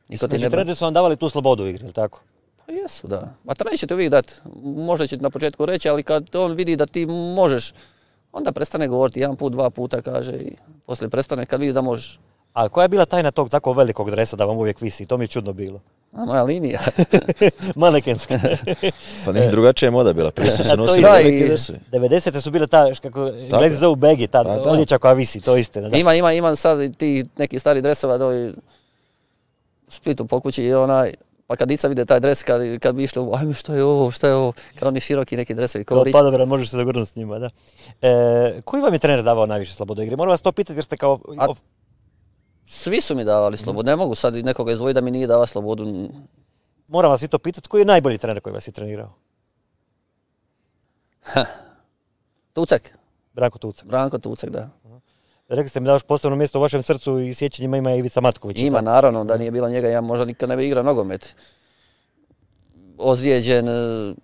Niko ti Znači, ne bra- treneri su vam davali tu slobodu u igri, jel tako? Pa jesu, da. Ma trener će ti uvijek dati, možda će ti na početku reći, ali kad on vidi da ti možeš, onda prestane govoriti, jedan put, dva puta kaže i poslije prestane kad vidi da možeš. Ali koja je bila tajna tog tako velikog dresa da vam uvijek visi? To mi je čudno bilo. A moja linija. Manekenska. Pa neki drugačija je moda bila, prije su A se to nosili i- velike da, i- dresovi. devedesete su bile ta, kako Englezi zovu begi, ta Pa da. odjeća koja visi, to je istina. Da. Ima, ima, ima sad i ti neki stari dresova doli u Splitu po kući i onaj, pa kad dica vide taj dres, kad, kad bi išli, ajme što je ovo, što je ovo, kad oni široki neki dresovi, Kao kao rič. padobran možeš se dogurnuti s njima, da. E, koji vam je trener davao najviše slobode igre? Moram vas to pitati jer ste kao... A- Svi su mi davali slobodu, ne mogu sad nekoga izdvojiti da mi nije davao slobodu. Moram vas i to pitati, koji je najbolji trener koji vas je trenirao? Tucek, Branko Tucak. Branko Tucek, da. Rekli ste mi da još posebno mjesto u vašem srcu i sjećanjima ima Ivica Matković. Ima, tako? naravno, da nije bilo njega, ja možda nikad ne bi igrao nogomet. Ozlijeđen, e,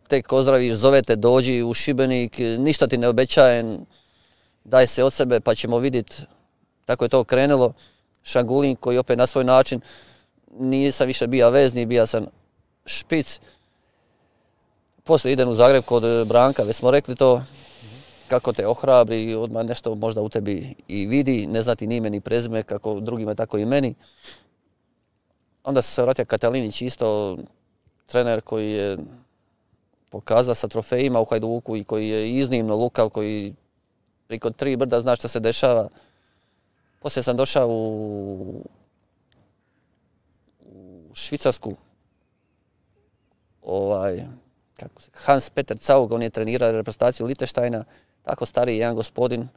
tek ozdraviš, zovete, dođi u Šibenik, ništa ti ne obećajem, daj se od sebe pa ćemo vidjeti. Tako je to krenulo. Šangulin koji opet na svoj način, nisam više bija vezni, bija sam špic. Poslije idem u Zagreb kod Branka, već smo rekli to, kako te ohrabri, odmah nešto možda u tebi i vidi, ne znati ni ime ni prezime, kako drugima, tako i meni. Onda se vratio Katalinić, isto trener koji je pokazao sa trofejima u Hajduku i koji je iznimno lukav, koji priko tri brda zna šta se dešava. Poslije sam došao u, u Švicarsku. Ovaj, kako se, Hans Peter Zaug, on je trenirao reprezentaciju Liechtensteina, tako stariji jedan gospodin.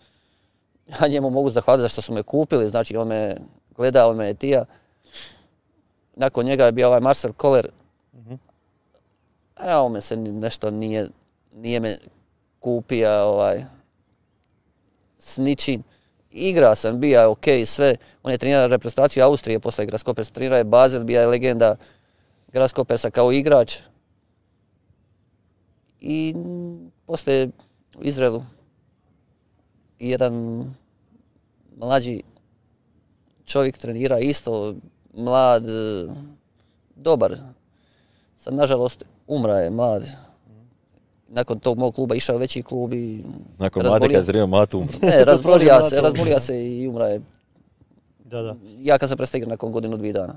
Ja njemu mogu zahvaliti za što su me kupili, znači on me gleda, on me je tija. Nakon njega je bio ovaj Marcel Koller. Uh-huh. A on me se nešto nije, nije me kupio ovaj, s ničim. Igra sam, bija ok, sve. On je trenirao reprezentaciju Austrije, posle Grasshoppers trenirao je Basel, bija je legenda Grasshoppersa kao igrač. I posle u Izraelu jedan mlađi čovjek trenira isto, mlad, dobar. Sad, nažalost, umra je mlad. Nakon tog mog kluba išao veći klub i... Nakon mlade kad trenirao Matu umra. Ne, razbolija se, razbolija se i umra je. Da, da. Ja kad sam prestao igrati nakon godinu, dvije dana.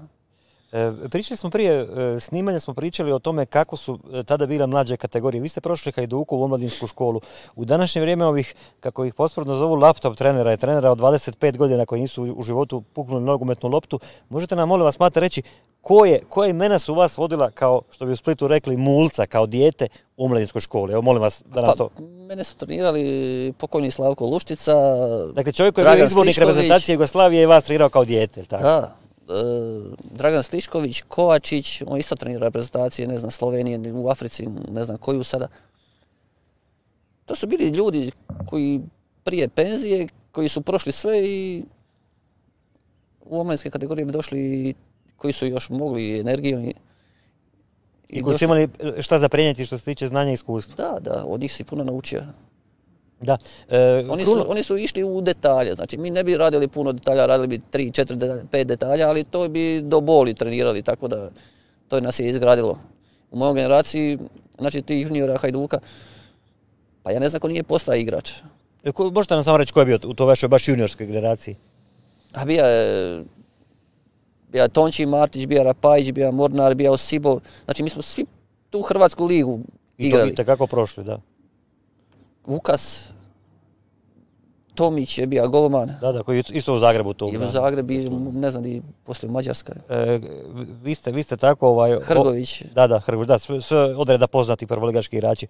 E, pričali smo prije e, snimanja, smo pričali o tome kako su e, tada bile mlađe kategorije. Vi ste prošli Hajduku u omladinsku školu. U današnje vrijeme ovih, kako ih posprodno zovu, laptop trenera i trenera od dvadeset pet godina koji nisu u životu puknuli nogometnu loptu, možete nam, molim vas, Mate, reći koje, koje imena su vas vodila, kao što bi u Splitu rekli, mulca, kao dijete u omladinskoj školi? Evo, molim vas da nam pa, to... Mene su trenirali pokojni Slavko Luštica, Dakle, čovjek koji je bio izbornik reprezentacije Jugoslavije i vas trenirao kao dijete, tako? Da. Dragan Stišković, Kovačić, on isto trenira reprezentacije, ne znam, Slovenije, u Africi, ne znam koju sada. To su bili ljudi koji prije penzije, koji su prošli sve i u omladinske kategorije bi došli, koji su još mogli energiju. I, I koji su imali šta za prenijeti što se tiče znanja i iskustva. Da, da, od njih si puno naučio. Da. E, oni, su, oni su išli u detalje, znači mi ne bi radili puno detalja, radili bi tri, četiri, pet detalja, ali to bi do boli trenirali, tako da to nas je izgradilo. U mojoj generaciji, znači tih juniora Hajduka, pa ja ne znam ko nije postao igrač. E, ko, možete nam samo reći ko je bio u to vašoj baš juniorskoj generaciji? A bija je, bija Tonči Martić, bija Rapajić, bija Mornar, bija Osibo, znači mi smo svi tu Hrvatsku ligu igrali. I to kako prošli, da. Vukas, Tomić je bio golman. Da, da, koji isto u Zagrebu to. I u Zagrebu, ne znam, i poslije u Mađarskoj. E, vi, ste, vi ste tako... Ovaj, Hrgović. O, da, da, Hrgović, da, sve, sve odreda poznati prvoligaški igrači.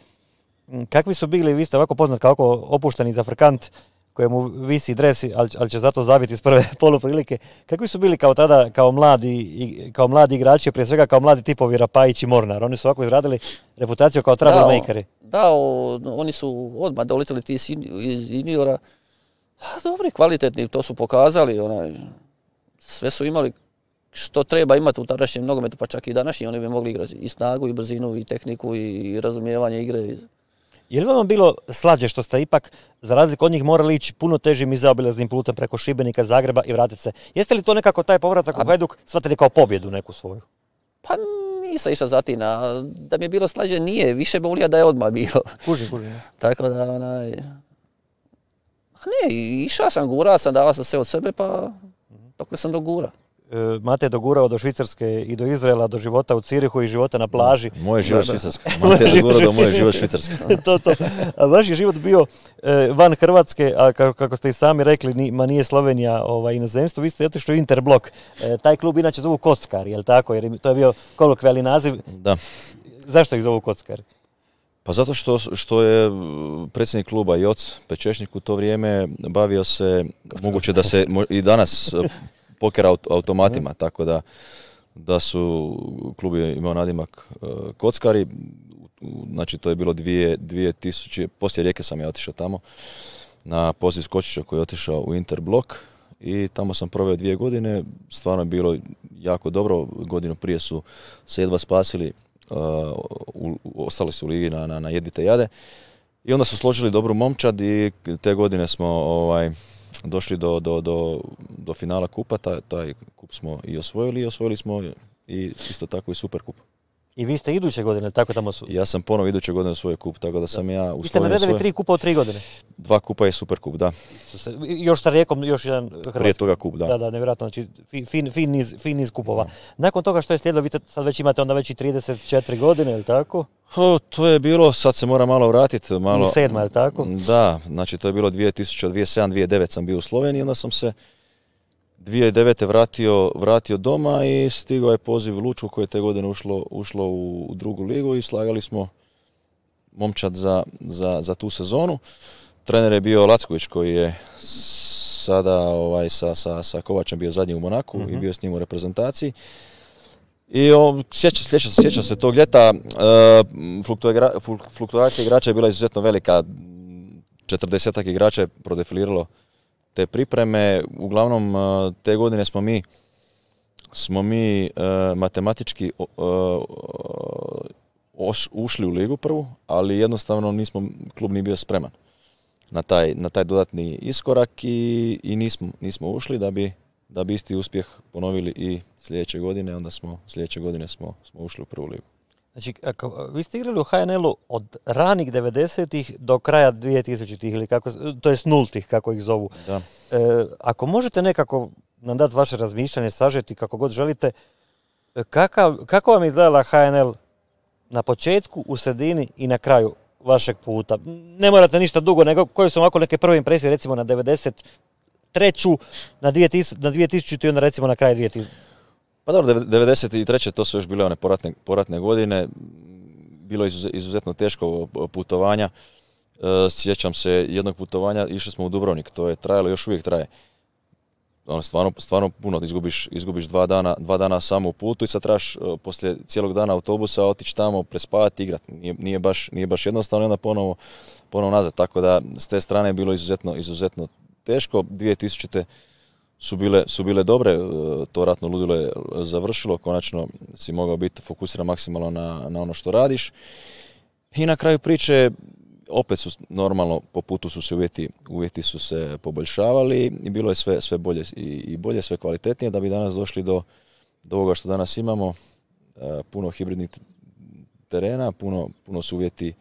Kakvi su bili, vi ste ovako poznat kao opušteni zafrkant kojemu visi dres, ali, ali će zato zabiti iz prve poluprilike. Kakvi su bili kao tada, kao mladi, i, kao mladi igrači, prije svega kao mladi tipovi Rapajić i Mornar? Oni su ovako izradili reputaciju kao troublemakeri. Da, da o, oni su odmah doletili ti iz juniora. Dobri, kvalitetni, to su pokazali. Onaj, sve su imali što treba imati u tadašnjem nogometu, pa čak i današnji. Oni bi mogli igrati i snagu, i brzinu, i tehniku, i razumijevanje igre. Je li vam bilo slađe što ste ipak, za razliku od njih, morali ići puno težim i zaobilaznim putem preko Šibenika, Zagreba i vratiti se? Jeste li to nekako taj povratak u Hajduk shvatili kao pobjedu neku svoju? Pa nisam išao zatina. Da mi je bilo slađe nije. Više bolija da je odmah bilo. Kuži, kuži. Tako da, onaj... Ne, išao sam, gurao sam, davao sam sve od sebe, pa dokle sam dogura. Mate je dogurao do Švicarske i do Izraela, do života u Cirihu i života na plaži. Moje život Švicarska. Mate je dogurao do moje život Švicarska. to, to. A vaš je život bio e, van Hrvatske, a kako ste i sami rekli, ni, ma nije Slovenija ovaj, inozemstvo, vi ste otišli u Interblok. E, taj klub inače zovu Kockari, je li tako? Jer to je bio kolokvijalni naziv. Da. Zašto ih zovu Kockari? Pa zato što, što je predsjednik kluba Joc Pečešnik u to vrijeme bavio se, moguće da se i danas poker automatima, tako da, da su klub je imao nadimak uh, Kockari, znači to je bilo dvije, dvije tisuće, poslije Rijeke sam ja otišao tamo na poziv Skočića koji je otišao u Interblok i tamo sam proveo dvije godine, stvarno je bilo jako dobro, godinu prije su se jedva spasili u, u, ostali su u ligi na, na, na jedvite jade. I onda su složili dobru momčad i te godine smo ovaj, došli do, do, do, do finala kupa, taj, taj kup smo i osvojili i osvojili smo i isto tako i super kup. I vi ste iduće godine, tako tamo su? Ja sam ponovo iduće godine u svoj kup, tako da sam ja u Sloveniji. Vi ste naredili svoje... tri kupa u tri godine? Dva kupa je super kup, da. Još sa Rijekom, još jedan Hrvatski. Prije toga kup, da. Da, da, nevjerojatno, znači fin, fin, niz, fin niz kupova. Da. Nakon toga što je slijedilo, vi sad već imate onda već i trideset četiri godine, je li tako? O, to je bilo, sad se mora malo vratiti. Malo... I sedma, je li tako? Da, znači to je bilo dvije tisuće, dvije tisuće sedam, dvije tisuće devet sam bio u Sloveniji, onda sam se dvije tisuće devete vratio, vratio doma i stigao je poziv Lučko koje je te godine ušlo, ušlo u, u drugu ligu i slagali smo momčad za, za, za tu sezonu. Trener je bio Lacković koji je sada ovaj, sa, sa, sa Kovačem bio zadnji u Monaku mm-hmm. i bio s njim u reprezentaciji. I sjeća, sjeća, sjeća se tog ljeta, uh, fluktuacija igrača je bila izuzetno velika, četrdesetak igrača je prodefiliralo te pripreme. Uglavnom te godine smo mi, smo mi uh, matematički uh, oš, ušli u ligu prvu, ali jednostavno nismo, klub nije bio spreman na taj, na taj dodatni iskorak i, i nismo, nismo ušli da bi, da bi isti uspjeh ponovili i sljedeće godine, onda smo sljedeće godine smo, smo ušli u prvu ligu. Znači, ako, vi ste igrali u ha en el-u od ranih devedesetih do kraja dvije tisućitih ili kako, to jest nultih kako ih zovu. Da. E, ako možete nekako nam dati vaše razmišljanje, sažeti kako god želite, kakav, kako vam je izgledala ha en el na početku, u sredini i na kraju vašeg puta? Ne morate ništa dugo, nego koje su ovako neke prve impresije recimo na devedeset treću, na dvije tisućite i onda recimo na kraju dvije tisućite. Pa dobro, devedeset treće to su još bile one poratne, poratne godine, bilo je izuzetno teško putovanja. Sjećam se jednog putovanja, išli smo u Dubrovnik, to je trajalo, još uvijek traje. Ono, stvarno, stvarno puno, izgubiš, izgubiš dva dana, dva dana samo u putu i sad trebaš poslije cijelog dana autobusa otići tamo, prespavati, igrati. Nije, nije, baš, nije baš jednostavno i onda ponovo, ponovo nazad. Tako da s te strane je bilo izuzetno, izuzetno teško. dvije tisućite su bile, su bile dobre, to ratno ludilo je završilo, konačno si mogao biti fokusiran maksimalno na, na ono što radiš. I na kraju priče opet su normalno, po putu su se uvjeti, uvjeti su se poboljšavali i bilo je sve, sve bolje i, i bolje, sve kvalitetnije da bi danas došli do, do ovoga što danas imamo. E, puno hibridnih terena, puno, puno su uvjeti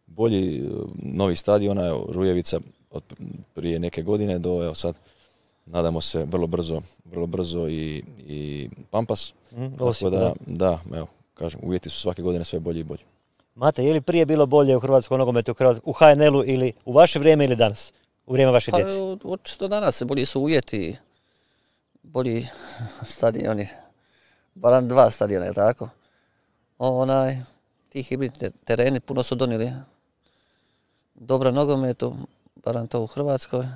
bolji, novi stadiona, evo, Rujevica od prije neke godine do evo sad nadamo se vrlo brzo, vrlo brzo i, i Pampas. Mm, Tako da, da, evo, kažem, uvjeti su svake godine sve bolji i bolji. Mate, je li prije bilo bolje u hrvatskom nogometu, u ha en el-u ili u vaše vrijeme ili danas? U vrijeme vaše djece? Pa, očito danas, bolji su uvjeti, bolji stadioni, barem dva stadiona, je tako? Onaj, ti hibridni tereni puno su donijeli dobra nogometu, barem to u Hrvatskoj.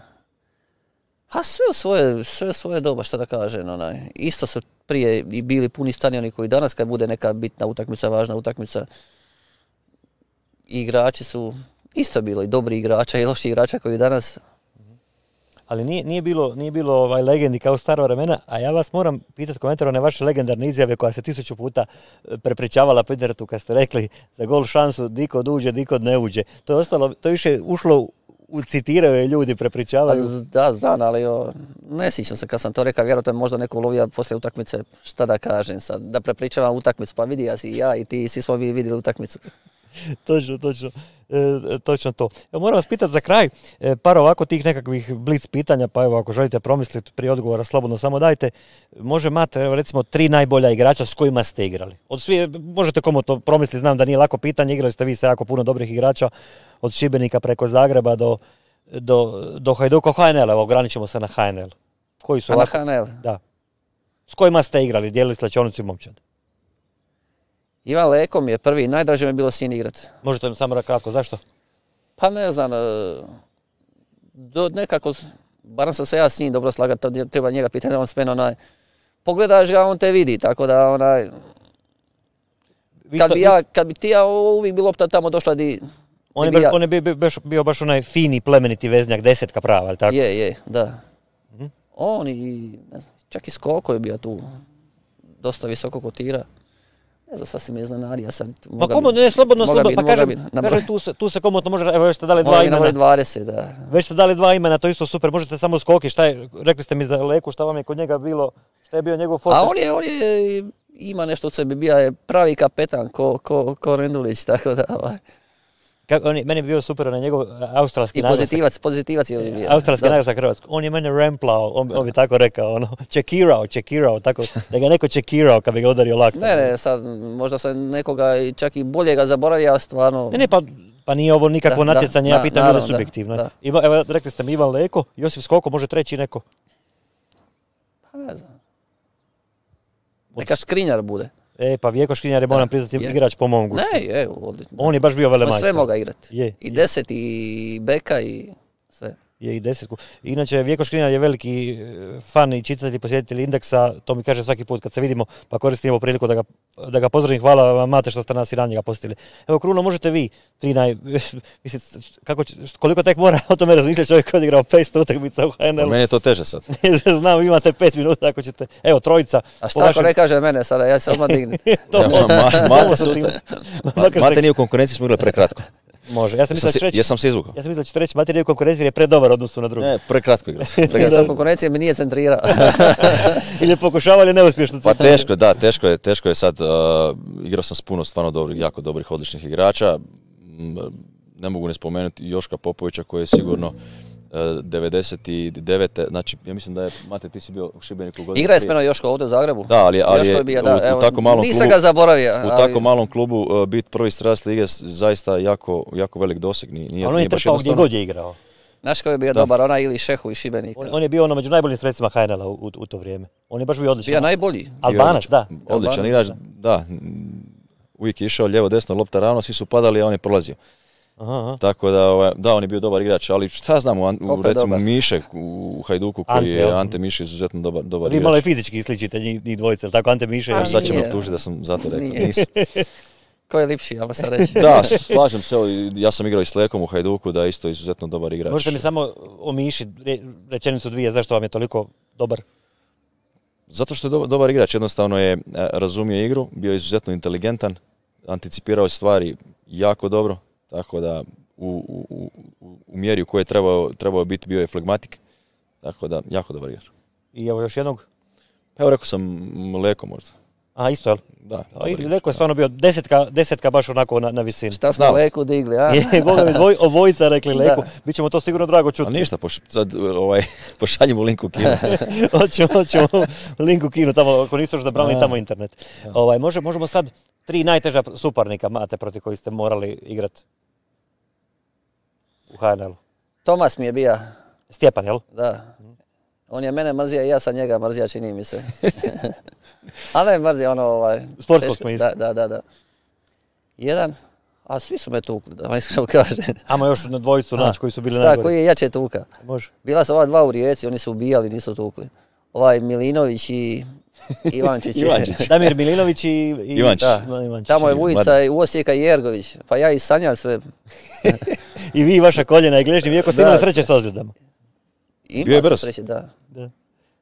A sve u svoje, sve u svoje doba, što da kažem, onaj. Isto su prije i bili puni stadioni koji danas, kad bude neka bitna utakmica, važna utakmica, igrači su isto bilo i dobri igrača i loši igrača koji danas. Ali nije, nije bilo, nije bilo ovaj legendi kao u staro vremena, a ja vas moram pitati komentar one vaše legendarne izjave koja se tisuću puta prepričavala po internetu kad ste rekli za gol šansu dikod uđe, dikod ne uđe. To je ostalo, to više ušlo, u citiraju je ljudi, prepričavaju. Da, znam, ali o, ne sjećam se kad sam to rekao, vjerojatno je možda neko ulovio poslije utakmice, šta da kažem sad, da prepričavam utakmicu, pa vidi ja si i ja i ti, svi smo vi vidjeli utakmicu. Točno, točno, e, točno to. Evo, moram vas pitati za kraj, e, par ovako tih nekakvih blic pitanja, pa evo ako želite promisliti prije odgovora, slobodno samo dajte. Može Mate, evo recimo tri najbolja igrača s kojima ste igrali. Od svi, možete komu to promisliti, znam da nije lako pitanje, igrali ste vi sa jako puno dobrih igrača, od Šibenika preko Zagreba do, do, do Hajduka, ha en el, evo ograničimo se na ha en el. Koji su A ovako? na ha en el? Da. S kojima ste igrali, dijelili slačionicu i momčad? Ivan Leko mi je prvi, najdraže mi je bilo s njim igrati. Možete mi samo da kratko, zašto? Pa ne znam, do nekako, barem sam se ja s njim dobro slagati, treba njega pitati, on s mene onaj, pogledaš ga, on te vidi, tako da onaj, kad bi, ja, kad bi ti ja uvijek bi lopta tamo došla di... On je, bi ja... on je bio, bio, bio baš onaj fini, plemeniti veznjak, desetka prava, ali tako? Je, je, da. Mhm. On i, ne znam, čak i Skoko je bio tu, dosta visoko kotira. Ne znam, sad si me iznenadio sad. Pa komu, ne, slobodno, slobodno, pa kažem, bit, kažem tu, se, tu se komotno može, evo već ste dali dva Moram imena. dvadeset, da. Već ste dali dva imena, to je isto super, možete samo skoki, šta je, rekli ste mi za Leku, šta vam je kod njega bilo, šta je bio njegov foto? A on je, on je, ima nešto od sebi, bio je pravi kapetan, ko, ko, ko Rendulić, tako da, ovaj. Kako, on je, meni je bio super onaj njegov australski I naglasak. pozitivac, pozitivac je bio. Australski naglasak Hrvatsko. On je mene remplao, on, on bi tako rekao, ono, čekirao, čekirao, tako, da ga neko čekirao kad bi ga udario laktom. Ne, ne, sad, možda sam nekoga i čak i boljega zaboravio, a stvarno... Ne, ne, pa, pa nije ovo nikakvo Da, natjecanje, da, ja pitam da, ljude naravno, subjektivno. da, da. Ima, evo, rekli ste mi Ivan Leko, Josip Skoko, može treći neko. Pa ne znam. Neka Škrinjar bude. E, pa Vjeko Škrinjar je, moram priznati, je. igrač po mom gustu. Ne, je, odlično. On je baš bio velemajstor. Sve moga igrati. Je, I je. deset, i beka, i sve. Je i desetku. Inače, Vjeko Škrinjar je veliki e, fan i čitatelj i posjetitelj Indeksa, to mi kaže svaki put kad se vidimo, pa koristim ovu priliku da ga, da ga pozdravim. Hvala vam, Mate, što ste nas i ranije ga posjetili. Evo, Kruno, možete vi, tri naj... Mislim, kako, će- koliko tek mora o tome razmišljati čovjek koji je odigrao petsto utakmica u H N Pa L-u. meni je to teže sad. Znam, imate pet minuta ako ćete. Evo, trojica. A po šta ako vašem- ne kaže mene sada, ja se odmah dignem. To Ja, može. ma- Mate se Može. ustaje. Makar Mate se- nije u konkurenciji, smo igrali prekratko. Može. Ja sam mislio Jesam da ću se, reći, jesam se izvukao. ja sam mislio da ću reći Mate nije u konkurenciji jer je predobar u odnosu na drugi. Ne, prekratko igrali. Ja Prekratko. sam konkurencije mi nije centrirao. Ili je pokušavao ali neuspješno. Pa teško je, da, teško je, teško je sad, uh, igrao sam s puno stvarno dobrih, jako dobrih, odličnih igrača. M, Ne mogu ne spomenuti Joška Popovića koji je sigurno uh, devedeset devete. Znači, ja mislim da je, Mate, ti si bio u Šibeniku godinu Igra je s prije. menom Joško ovdje u Zagrebu. Da, ali, ali Joško je je bio, u, da, u evo, tako malom nisam klubu, ga zaboravio. u ali- tako malom klubu uh, biti prvi strast lige s- zaista jako, jako velik doseg. Nije, nije, Ali on je nije baš trpao gdje jednostavno. god je igrao. Znaš ko je bio Da. dobar, ona ili Šehu i Šibenika. On, on je bio ono među najboljim sredstvima H N L-a u, u, u to vrijeme. On je baš bio odličan. Bio najbolji. Albanac, da. Odličan Albanac, igrač, da. da. mm, Uvijek je išao lijevo, desno, lopta ravno, svi su padali, a on je prolazio. Aha, aha. Tako da, ovaj, da, on je bio dobar igrač, ali šta znam, u, An- u, Opet recimo dobar. Mišek u Hajduku koji Ante, je, jel? Ante Miše izuzetno dobar, dobar Vi malo i igrač. fizički sličite njih, njih dvojice, jel tako Ante Miše. A, Evo, sad će me nije. optužiti da sam zato rekao. Nije. Nisam. Ko je lipši, ajmo sad reći. Da, slažem se, evo, ja sam igrao i s Lekom u Hajduku, da je isto izuzetno dobar igrač. Možete mi samo o Miši re- rečenicu dvije, zašto vam je toliko dobar? Zato što je dobar, dobar igrač, jednostavno je e, razumio igru, bio je izuzetno inteligentan, anticipirao je stvari jako dobro, tako da u, u, u, u mjeri u kojoj je trebao, trebao biti bio je flegmatik, tako da jako dobar igrač. I evo još jednog. Pa evo rekao sam Leko možda. A isto, jel? Da, A dobar i igrač, Leko je da. stvarno bio desetka, desetka baš onako na, na visini. Šta smo Znao sam. Leku digli, a? Je, Boga mi, dvoj, obojica rekli Leku. Da. Biće mu to sigurno drago A čuti. ništa, poš, sad, ovaj, pošaljimo link u kino. hoćemo, hoćemo link u kinu, tamo, ako nisu još zabranili tamo internet. Ovaj, može, možemo sad tri najteža suparnika, Mate, protiv koji ste morali igrati u H N L-u. Tomas mi je bio, Stjepan, jel? da. On je mene mrzio i ja sam njega mrzio, čini mi se. A ne mrzio ono ovaj... Sportskog teško- smisla. Da, da, da, da. Jedan, a svi su me tukli, da vam iskreno kažem. Ajmo još na dvojicu naći koji su bili Šta, najgori. koji je jače tuka? Može. Bila su ova dva u Rijeci, oni su ubijali, nisu tukli. Ovaj Milinović i Ivančić. Ivančić. Damir Milinović i, i Ivančić. Da, Ivančić. Tamo je i Vujica i Osijeka i Jergović. Pa ja i Sanjal sve. I vi, vaša koljena i gležnji, iako ste Da. imali sreće s ozljedama. Ima Bio je su brz. sreće, da. Da.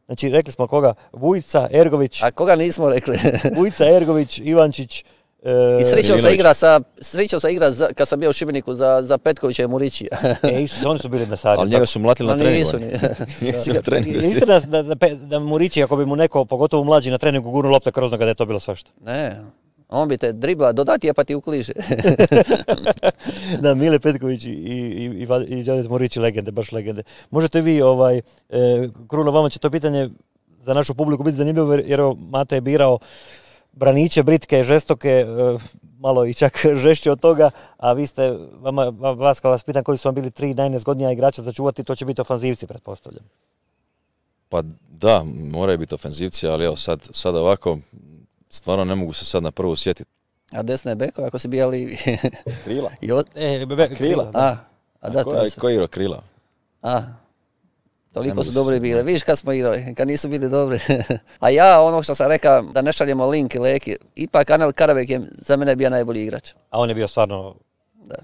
Znači, rekli smo koga? Vujica, Ergović, A koga nismo rekli? Vujica, Ergović, Ivančić. e, I srećao se Milinović. igra sa, srećao se igra za, kad sam bio u Šibeniku za, za Petkovića i Murićija. E, Isus, oni su bili mesari. Ali njega su mlatili na Ma treningu. nisu oni. ni. Nisu na treningu. Je istina da, da, da, da Murići, ako bi mu neko, pogotovo mlađi na treningu, gurnu lopte kroz noga, da je to bilo svašta. Ne, on bi te dribla, dodati je pa ti ukliže. Da, Mile Petković i, i, i, i Đadet Murići, legende, baš legende. Možete vi, ovaj, e, Kruno, vama će to pitanje za našu publiku biti zanimljivo, jer jer evo, Mate je birao braniće, britke, žestoke, e, malo i čak žešće od toga, a vi ste, vama, vas kao vas pitam koji su vam bili tri najnezgodnija igrača za čuvati, to će biti ofanzivci, pretpostavljam. Pa da, moraju biti ofenzivci, ali evo sad, sad ovako, stvarno ne mogu se sad na prvu sjetiti. A desne je beko, ako si bija livi. Krila? I od... E, be, be, krila. da. A, a da, Ko, to se. ko je igrao krila? A, Ne toliko mogu su se dobri sjetiti. bili. Vidiš kad smo igrali, kad nisu bili dobri. A ja, ono što sam rekao, da ne šaljemo link i Leki, ipak Anel Karabek je za mene bio najbolji igrač. A on je bio stvarno, Da.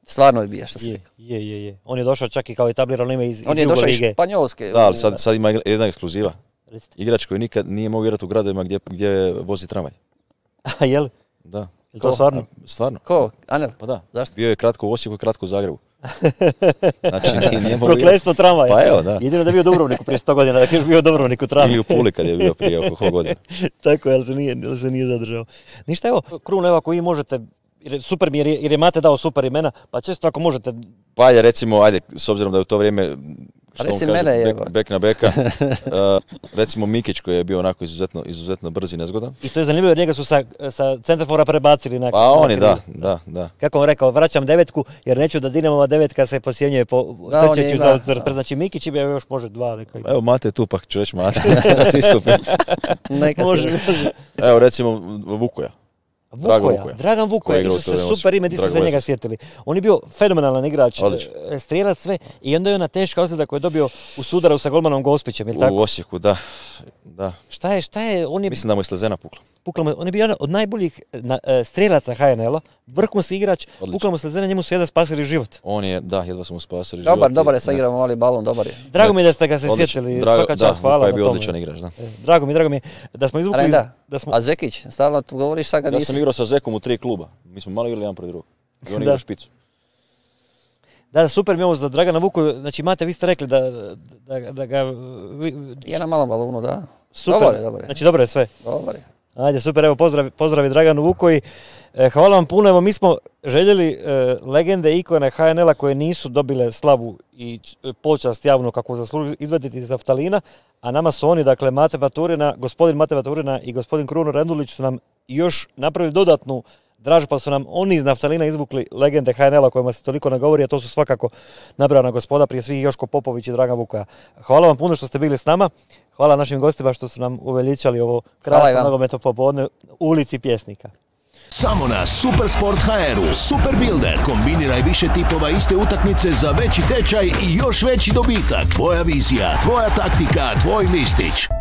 Stvarno je bio, što si je, rekao. je, je, je. On je došao čak i kao etablirano ime iz, iz On je Jugo došao iz lige. Španjolske. Da, ali sad, sad ima jedna ekskluziva. Recite. Igrač koji nikad nije mogao igrati u gradovima gdje, gdje vozi tramvaj. A jel? Da. Je to stvarno? Stvarno. Ko? Anel? Pa da. Zašto? Bio je kratko u Osijeku i kratko u Zagrebu. Znači, nije, nije mogao Prokletstvo tramvaja. Pa evo, da. Jedino da je bio u Dubrovniku prije sto godina, da je bio u Dubrovniku tramvaj. Ili u Puli kad je bio prije oko koliko godina. Tako je, ali se nije, ali se nije zadržao. Ništa, evo, Kruno, evo, ako vi možete, jer je super mi jer je, jer je Mate dao super imena, pa često ako možete... Pa ajde, recimo, ajde, s obzirom da je u to vrijeme, što on Reci kaže, mene, bek, evo. bek na beka, uh, recimo Mikić koji je bio onako izuzetno, izuzetno brz i nezgodan. I to je zanimljivo jer njega su sa, sa centrafora prebacili na... Pa na oni, krivi. da, da, da. Kako on rekao, vraćam devetku jer neću da Dinamova devetka se posjenjuje po Da, on trčeću je, za da, da. Znači Mikić ima još može dva neka. Evo Mate je tu, pa ću reći Mate, svi skupim. Neka Može, se... može. Evo recimo Vukoja. Drago Vukoja, Vukoja. Dragan Vukoja, Koji je igrao isto u to se vrijeme super ime, di ste Drago se njega Vesić. sjetili. On je bio fenomenalan igrač, Odlično. e, strijelac sve i onda je ona teška ozljeda koju je dobio u sudaru sa golmanom Gospićem, jel tako? U Osijeku, da. da. Šta je, šta je, on je, Mislim da mu je slezena pukla. pukla mu- on je bio jedan od najboljih na, e, strijelaca H N L-a, vrhunski igrač, Odlično. pukla mu slezena, njemu su jedan spasili život. On je, da, jedva smo mu spasili Dobar, život i- dobar je, sad igramo mali balon, dobar je. Drago mi je da ste ga se Odlično. sjetili, Drago- svaka čast, da, hvala Vukoja je na bio tome. odličan igrač, da. E, Drago mi, drago mi je da smo izvukli, Renda, da smo, a Zekić, stalno tu govoriš sad kad Ja nisi... sam igrao sa Zekom u tri kluba. Mi smo malo igrali jedan protiv drugog. I on Da. igra špicu. da, da, super mi je ovo za Dragana Vukoju, znači Mate, vi ste rekli da, da, da ga, vi, Je na malom balonu, da. super, Dobar je, dobar je. znači dobro je sve. Dobar je. Ajde, super, evo pozdrav, pozdravi Draganu Vukoji. E, hvala vam puno, evo mi smo željeli e, legende i ikone H N L-a koje nisu dobile slavu i č- počast javno kako zaslužuju izvaditi iz naftalina, a nama su oni, dakle, Mate Baturina, gospodin Mate Baturina i gospodin Kruno Rendulić su nam još napravili dodatnu dražu, pa su nam oni iz naftalina izvukli legende H N L-a o kojima se toliko ne govori, a to su svakako nabrojana gospoda, prije svih Joško Popović i Dragan Vukoja. Hvala vam puno što ste bili s nama, hvala našim gostima što su nam uveličali ovo Hvala i kratko vama. nogometno popodne u ulici Pjesnika. Samo na Supersport ha er-u Super Builder. Kombiniraj više tipova iste utakmice za veći tečaj i još veći dobitak. Tvoja vizija, tvoja taktika, tvoj listić.